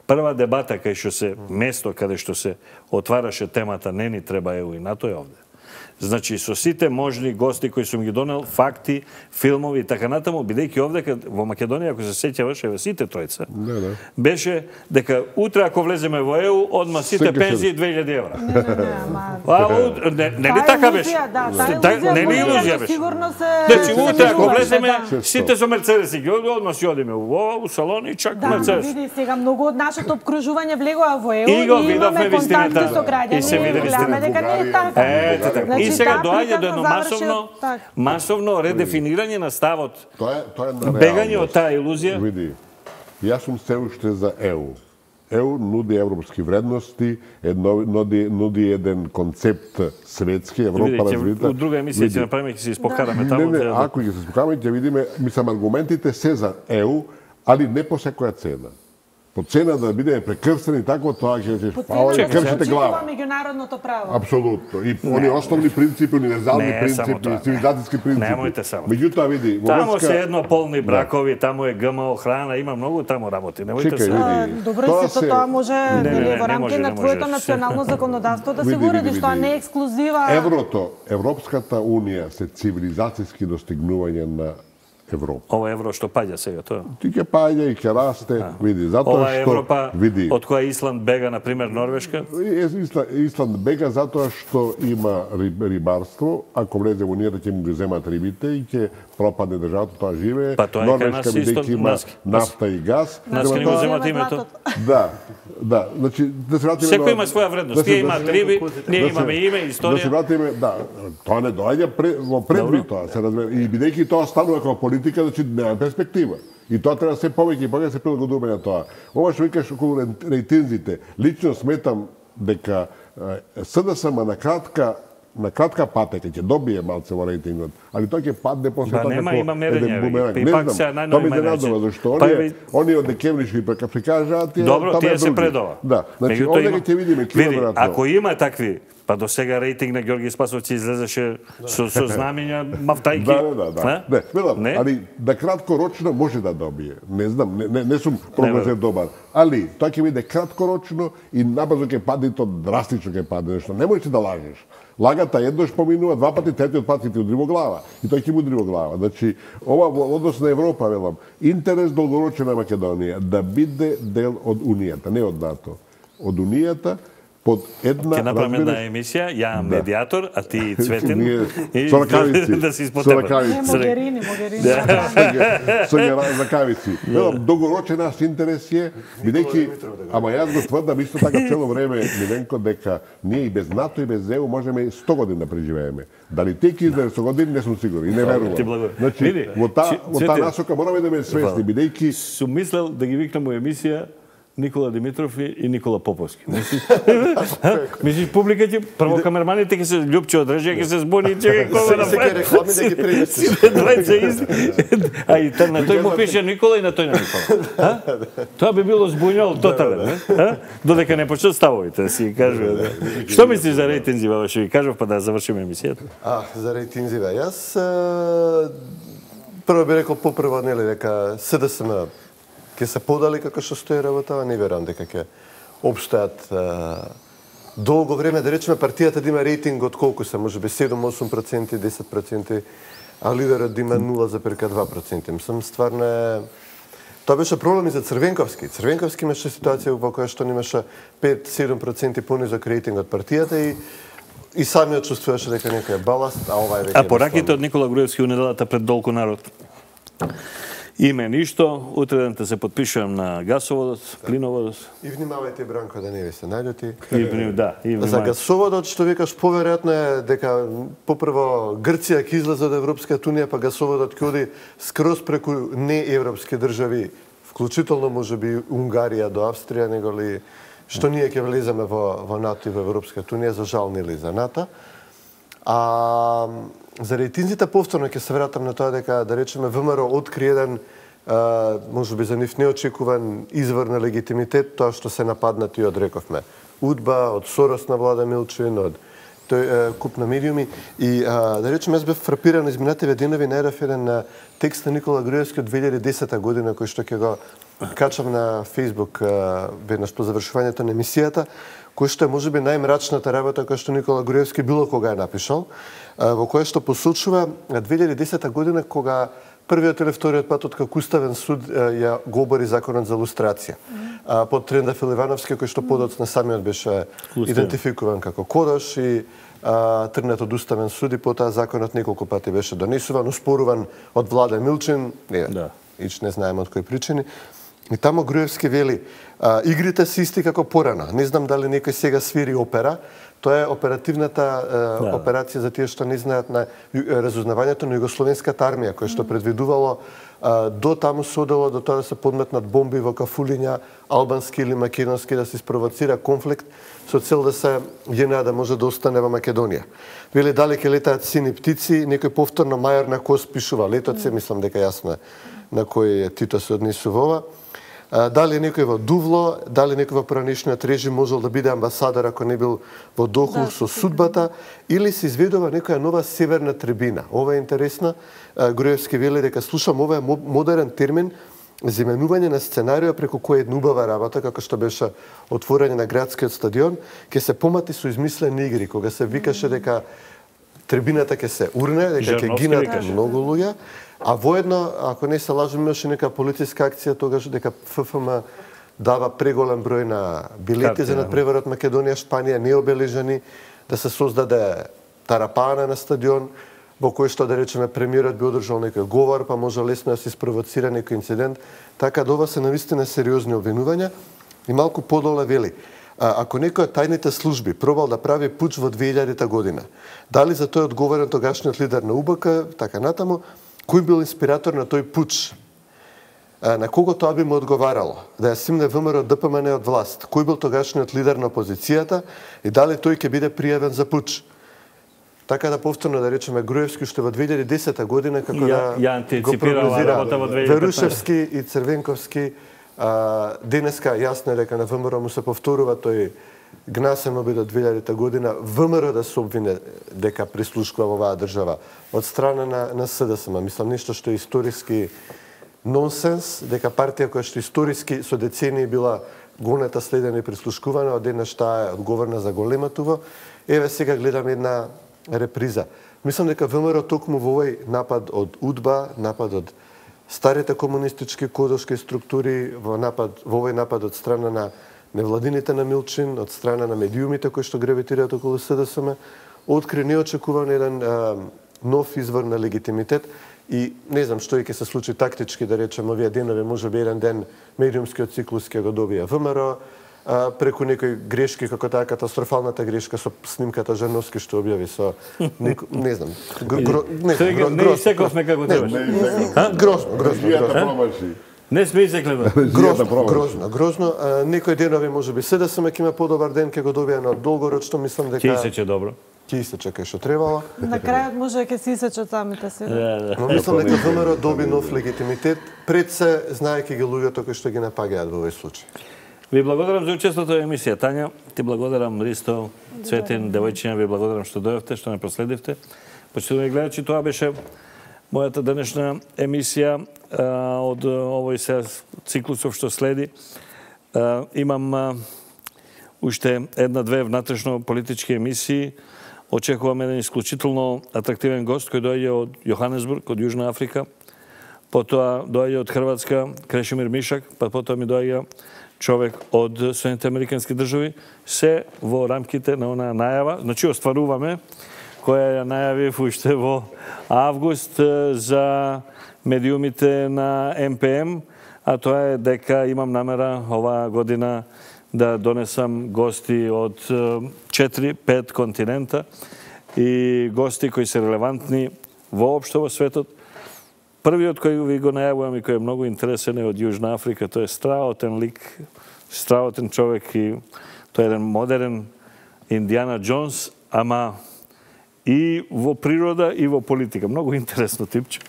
прва дебата кај што се место каде што се отвараше темата не ни треба ЕУ и НАТО е овде. Значи, со сите можни гости кои сум ги донел, факти, филмови и така натаму, бидејќи овде во Македонија, ако се сеќаваш, еве сите тројца, Да, да. беше дека утре ако влеземе во ЕУ, одма сите Секој пензии две илјади евра. Не, не, не, ама... А, у- не, не ли така беше? Да, таа Та- илузија не ли може илузија да беше? Сигурно се... Значи, се утре ако случуваше, влеземе, да. сите со Мерцедеси ги одма си одиме во у салон и чак Да, ама Мерцедес. види сега многу од нашето обкружување влегоа во ЕУ И го и видовме имаме контакти вистината. со граѓани И се види гледаме вистината. дека не е така. Ете така. Значи, И сега таа доаѓа до приказна едно заврши масовно, од- така. масовно редефинирање на ставот. Тоа е, тоа е на Бегање реалност. од таа илузија. Види, јас сум се уште за ЕУ. ЕУ нуди европски вредности, едно, нуди, нуди еден концепт светски, Европа Видите, развита. у друга емисија ќе направиме, ќе се испокараме Не, таму. не, треба да- ако ги се спокаме, ќе видиме, мислам, аргументите се за ЕУ, али не по секоја цена. По цена да бидеме прекрстени, тако тоа ќе речеш, По па, цена ќе да се кршите почитува глава. меѓународното право. Апсолутно. И они основни принципи, универзални Не, само принципи, тоа. цивилизацијски принципи. Немојте само. Меѓутоа, види, во Таму врска- се едно полни бракови, таму е ГМО охрана, има многу таму работи. Немојте Чекај, се. види. А, Добро, Тоа сето се- тоа може не, нели, не, во не рамки може, на не твоето може. национално законодавство да се Види, го уредиш, види, тоа види. не е ексклузива. Еврото, Европската унија се цивилизацијски достигнување на Европа. Ова евро што паѓа сега тоа. Ти ќе паѓа и ќе расте, види, затоа Ова што Европа види. од која Исланд бега, на пример Норвешка. Исланд, Исланд бега затоа што има риб, рибарство, ако влезе во унијата ќе му ги земат рибите и ќе пропадне државата, тоа живее. Па тоа е кај Норвешка нас исто, бидејќи има нас- нафта и газ. Нас Према ќе ни го тоа- земат Земат името. златото. Да, да, значи да се вратиме Секој има своја вредност. да се- Тие да имаат се- риби, ние да се- имаме име, Да се историја. вратиме, да, тоа не доаѓа пре, во предвид тоа, се разбира. И бидејќи тоа станува како политика, значи нема перспектива. И тоа треба се повеќе и повеќе да се прилагодуваме на тоа. Ова што викаш околу рейтинзите, лично сметам дека е, СДСМ на кратка на кратка патека ќе добие малце во рейтингот, али тоа ќе падне после Ба, тоа нема, како има мерења, еден бумеранг. и Не пак знам, сега најнови тоа ми мерења. изненадува, зашто Па, оние, ви- оние од декември што ги прикажаат, тие Добро, таму е тие се други. предова. Да, значи Меѓутоа овде има- ќе видиме ќе Види, веројатно. ако има такви, па до сега рейтинг на Ѓорги Спасовци излезеше со, со знамења мафтајки. Да, да, да, да. А? Не, велам, Не? али да краткорочно може да добие. Не знам, не, не, не сум прогнозер добар. Али тоа ќе биде краткорочно и набрзо ќе падне и то драстично ќе падне, нешто не можеш да лажеш. Лагата еднаш поминува, два пати, третиот пат ќе ти удри во глава. И тој ќе му удри во глава. Значи, ова во однос на Европа, велам, интерес долгорочен на Македонија да биде дел од Унијата, не од НАТО. Од Унијата под една, Ќе направиме една разбираш, емисија, ја Да. медиатор, а ти Цветин. Ние и со ракавици, да се со испотепат. ракавици. Не, Могерини, Могерини. со ги закавици. Велам, долгорочен наш интерес е, бидејќи, ама јас го тврдам исто така цело време, Миленко, дека ние и без НАТО и без ЕУ можеме сто години да преживееме. Дали те ќе излезе сто години, не сум сигурен и не Ти верувам. благодарам. Значи, Види, во таа Ци- во таа Цветин. насока мораме да ме свесни, бидејќи Сум мислел да ги викнам у емисија Никола Димитров и и Никола Поповски. Мислиш, Мислиш публика ќе прво камерманите ќе се Љупче од Режија ќе се збуни, чекај кога да Секој реклами да ги пренесеш. Двајца ист. А и та- на тој му пише Никола и на тој на Никола. А? Тоа би било збуњал тотален, не? А? Додека не почнат ставовите да си ги кажува. Да. Што мислиш за рейтинзи, баба, што ги кажав па да завршиме емисијата? А, за рейтинзиве. Јас а, прво би рекол попрво нели дека СДСМ ќе се подали како што стои работа, не верувам дека ќе општаат а, долго време, да речеме партијата да има рейтинг од колку се, можеби седум-осум проценти, десет проценти, а лидерот да има нула зарез два проценти. Мислам, стварно е... Тоа беше проблем и за Црвенковски. Црвенковски имаше ситуација во која што немаше пет-седум проценти понизок рейтинг од партијата и и самиот чувствуваше дека некој е баласт, а ова е веќе... А пораките од Никола Груевски у неделата пред Долку народ. Име ништо, утредента се подпишувам на гасоводот, плиноводот. И внимавајте, Бранко, да не ви се наљути. И, вни- да, и За внимавајте. гасоводот, што викаш, поверојатно е дека попрво Грција ќе излезе од Европската унија, па гасоводот ќе оди скроз преку неевропски држави, вклучително можеби Унгарија до Австрија, него ли што ние ќе влеземе во, во НАТО и во Европската унија, за жал нели за НАТО. А за рейтинзите повторно ќе се вратам на тоа дека, да речеме, ВМРО откри еден а, можеби за нив неочекуван извор на легитимитет, тоа што се нападнати од, рековме, УДБА, од Сорос на Влада Милчин, од тој куп на медиуми и а, да речем јас бев фрапиран изминативе денови најдов еден текст на Никола Груевски од две илјади и десета година кој што ќе го качам на Facebook веднаш по завршувањето на емисијата, кој што е можеби најмрачната работа која што Никола Груевски било кога е напишал, во која што посочува две илјади и десета година кога првиот или вториот пат откако Уставен суд ја го обори законот за лустрација. Mm. Под Трендафил Ивановски, кој што подоцна самиот беше Лустрен. идентификуван како Кодош и а, тргнат од Уставен суд и потоа законот неколку пати беше донесуван, успоруван од Владе Милчин, не, да. ич не знаеме од кои причини. И тамо Груевски вели, а, игрите се исти како порана. Не знам дали некој сега свири опера. Тоа е оперативната е, да. операција за тие што не знаат на разузнавањето на југословенската армија, која што предвидувало е, до таму се одело до тоа да се подметнат бомби во кафулиња, албански или македонски, да се спровоцира конфликт со цел да се ЈНА да може да остане во Македонија. Вели дали ќе летаат сини птици, некој повторно мајор на Кос пишува летоци, мислам дека јасно на кој Тито се однесува ова. Дали некој во Дувло, дали некој во поранешниот режим можел да биде амбасадор ако не бил во дохлу да, со судбата, или се изведува некоја нова северна трибина. Ова е интересно. Груевски вели дека слушам ова е модерен термин за именување на сценарио преку кој една убава работа, како што беше отворање на градскиот стадион, ќе се помати со измислени игри, кога се викаше дека трибината ќе се урне, дека ќе гинат многу луѓе. А воедно, ако не се лажам, имаше нека полициска акција тогаш дека ФФМ дава преголем број на билети за надпреварот Македонија Шпанија необележани, да се создаде тарапана на стадион, во кој што да речеме премиерот би одржал некој говор, па може лесно да се спровоцира некој инцидент. Така да ова се навистина сериозни обвинувања и малку подоле вели. Ако некој од тајните служби пробал да прави пуч во две илјадета година, дали за тој одговорен тогашниот лидер на УБК, така натаму, кој бил инспиратор на тој пуч? На кого тоа би му одговарало? Да ја симне ВМРО ДПМН од власт? Кој бил тогашниот лидер на опозицијата и дали тој ќе биде пријавен за пуч? Така да повторно да речеме Груевски што во две илјади и десета година како ја, да ја го прогнозира Верушевски и Црвенковски, а, денеска јасно е дека на ВМРО му се повторува тој гнасен обид од две илјадета година, ВМРО да се обвине дека прислушкува во оваа држава од страна на, на СДСМ. Мислам, нешто што е историски нонсенс, дека партија која што историски со децении била гонета, следена и прислушкувана, од еднаш таа е одговорна за голематово. Еве сега гледам една реприза. Мислам дека ВМРО токму во овој напад од УДБА, напад од старите комунистички кодошки структури, во напад во овој напад од страна на невладините на Милчин, од страна на медиумите кои што гравитираат околу СДСМ, откри неочекуван еден а, нов извор на легитимитет и не знам што ќе се случи тактички, да речем, овие денови, може би еден ден медиумскиот циклус ќе го добија ВМРО, а, преку некои грешки, како таа катастрофалната грешка со снимката Жановски што објави со неко, не знам, гро, не, гро, не исековме како требаше. Грозно, грозно. Не сме изекле. Грозно, грозно, грозно. А, некои денови може би СДСМ ќе има подобар ден, ќе го добија на долгорочно, мислам дека ќе исече добро. Ќе исече кај што требало. На крајот може ќе се исечат самите себе. Да, да. Но мислам дека ВМРО доби нов легитимитет пред се знаејќи ги луѓето кои што ги напагаат во овој случај. Ви благодарам за учеството во емисија. Тања, ти благодарам, Ристо, Цветин, девојчиња, ви благодарам што дојавте, што не проследивте. Почитувани гледачи, тоа беше мојата денешна емисија а, од овој се циклусов што следи. А, имам а, уште една-две внатрешно политички емисии. Очекувам еден исклучително атрактивен гост кој доаѓа од Јоханесбург, од Јужна Африка. Потоа доаѓа од Хрватска Крешимир Мишак, па потоа ми доаѓа човек од Соединените Американски држави, се во рамките на онаа најава. Значи, остваруваме која ја најавив уште во август за медиумите на Ем Пе Ем, а тоа е дека имам намера оваа година да донесам гости од четири-пет континента и гости кои се релевантни воопшто во светот. Првиот кој ви го најавувам и кој е многу интересен е од Јужна Африка, тој е страотен лик, страотен човек и тој е еден модерен Индиана Джонс, ама и во природа и во политика. Многу интересно типче.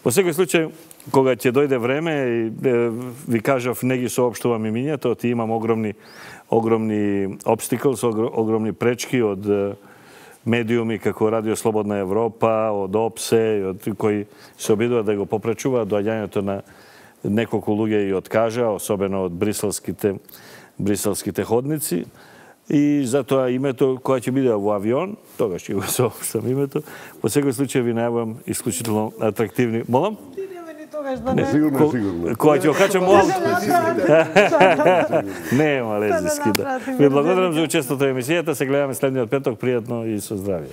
Во секој случај, кога ќе дојде време, и, е, ви кажав, не ги соопштувам имињата, ти имам огромни огромни обстиклс, огромни пречки од медиуми како Радио Слободна Европа, од ОПСЕ, од кои се обидуваат да го попречуваат доаѓањето на неколку луѓе и откажа, особено од бриселските бриселските ходници. И затоа името, кога ќе биде во авион, тогаш ќе го соопштам името. Во секој случај ви најавам исклучително атрактивни. Молам? Не, сигурно, сигурно. Кога ќе окачам во авто? Нема лезиски, да. Ви благодарам за учеството во емисијата. Се гледаме следниот петок. Пријатно и со здравје.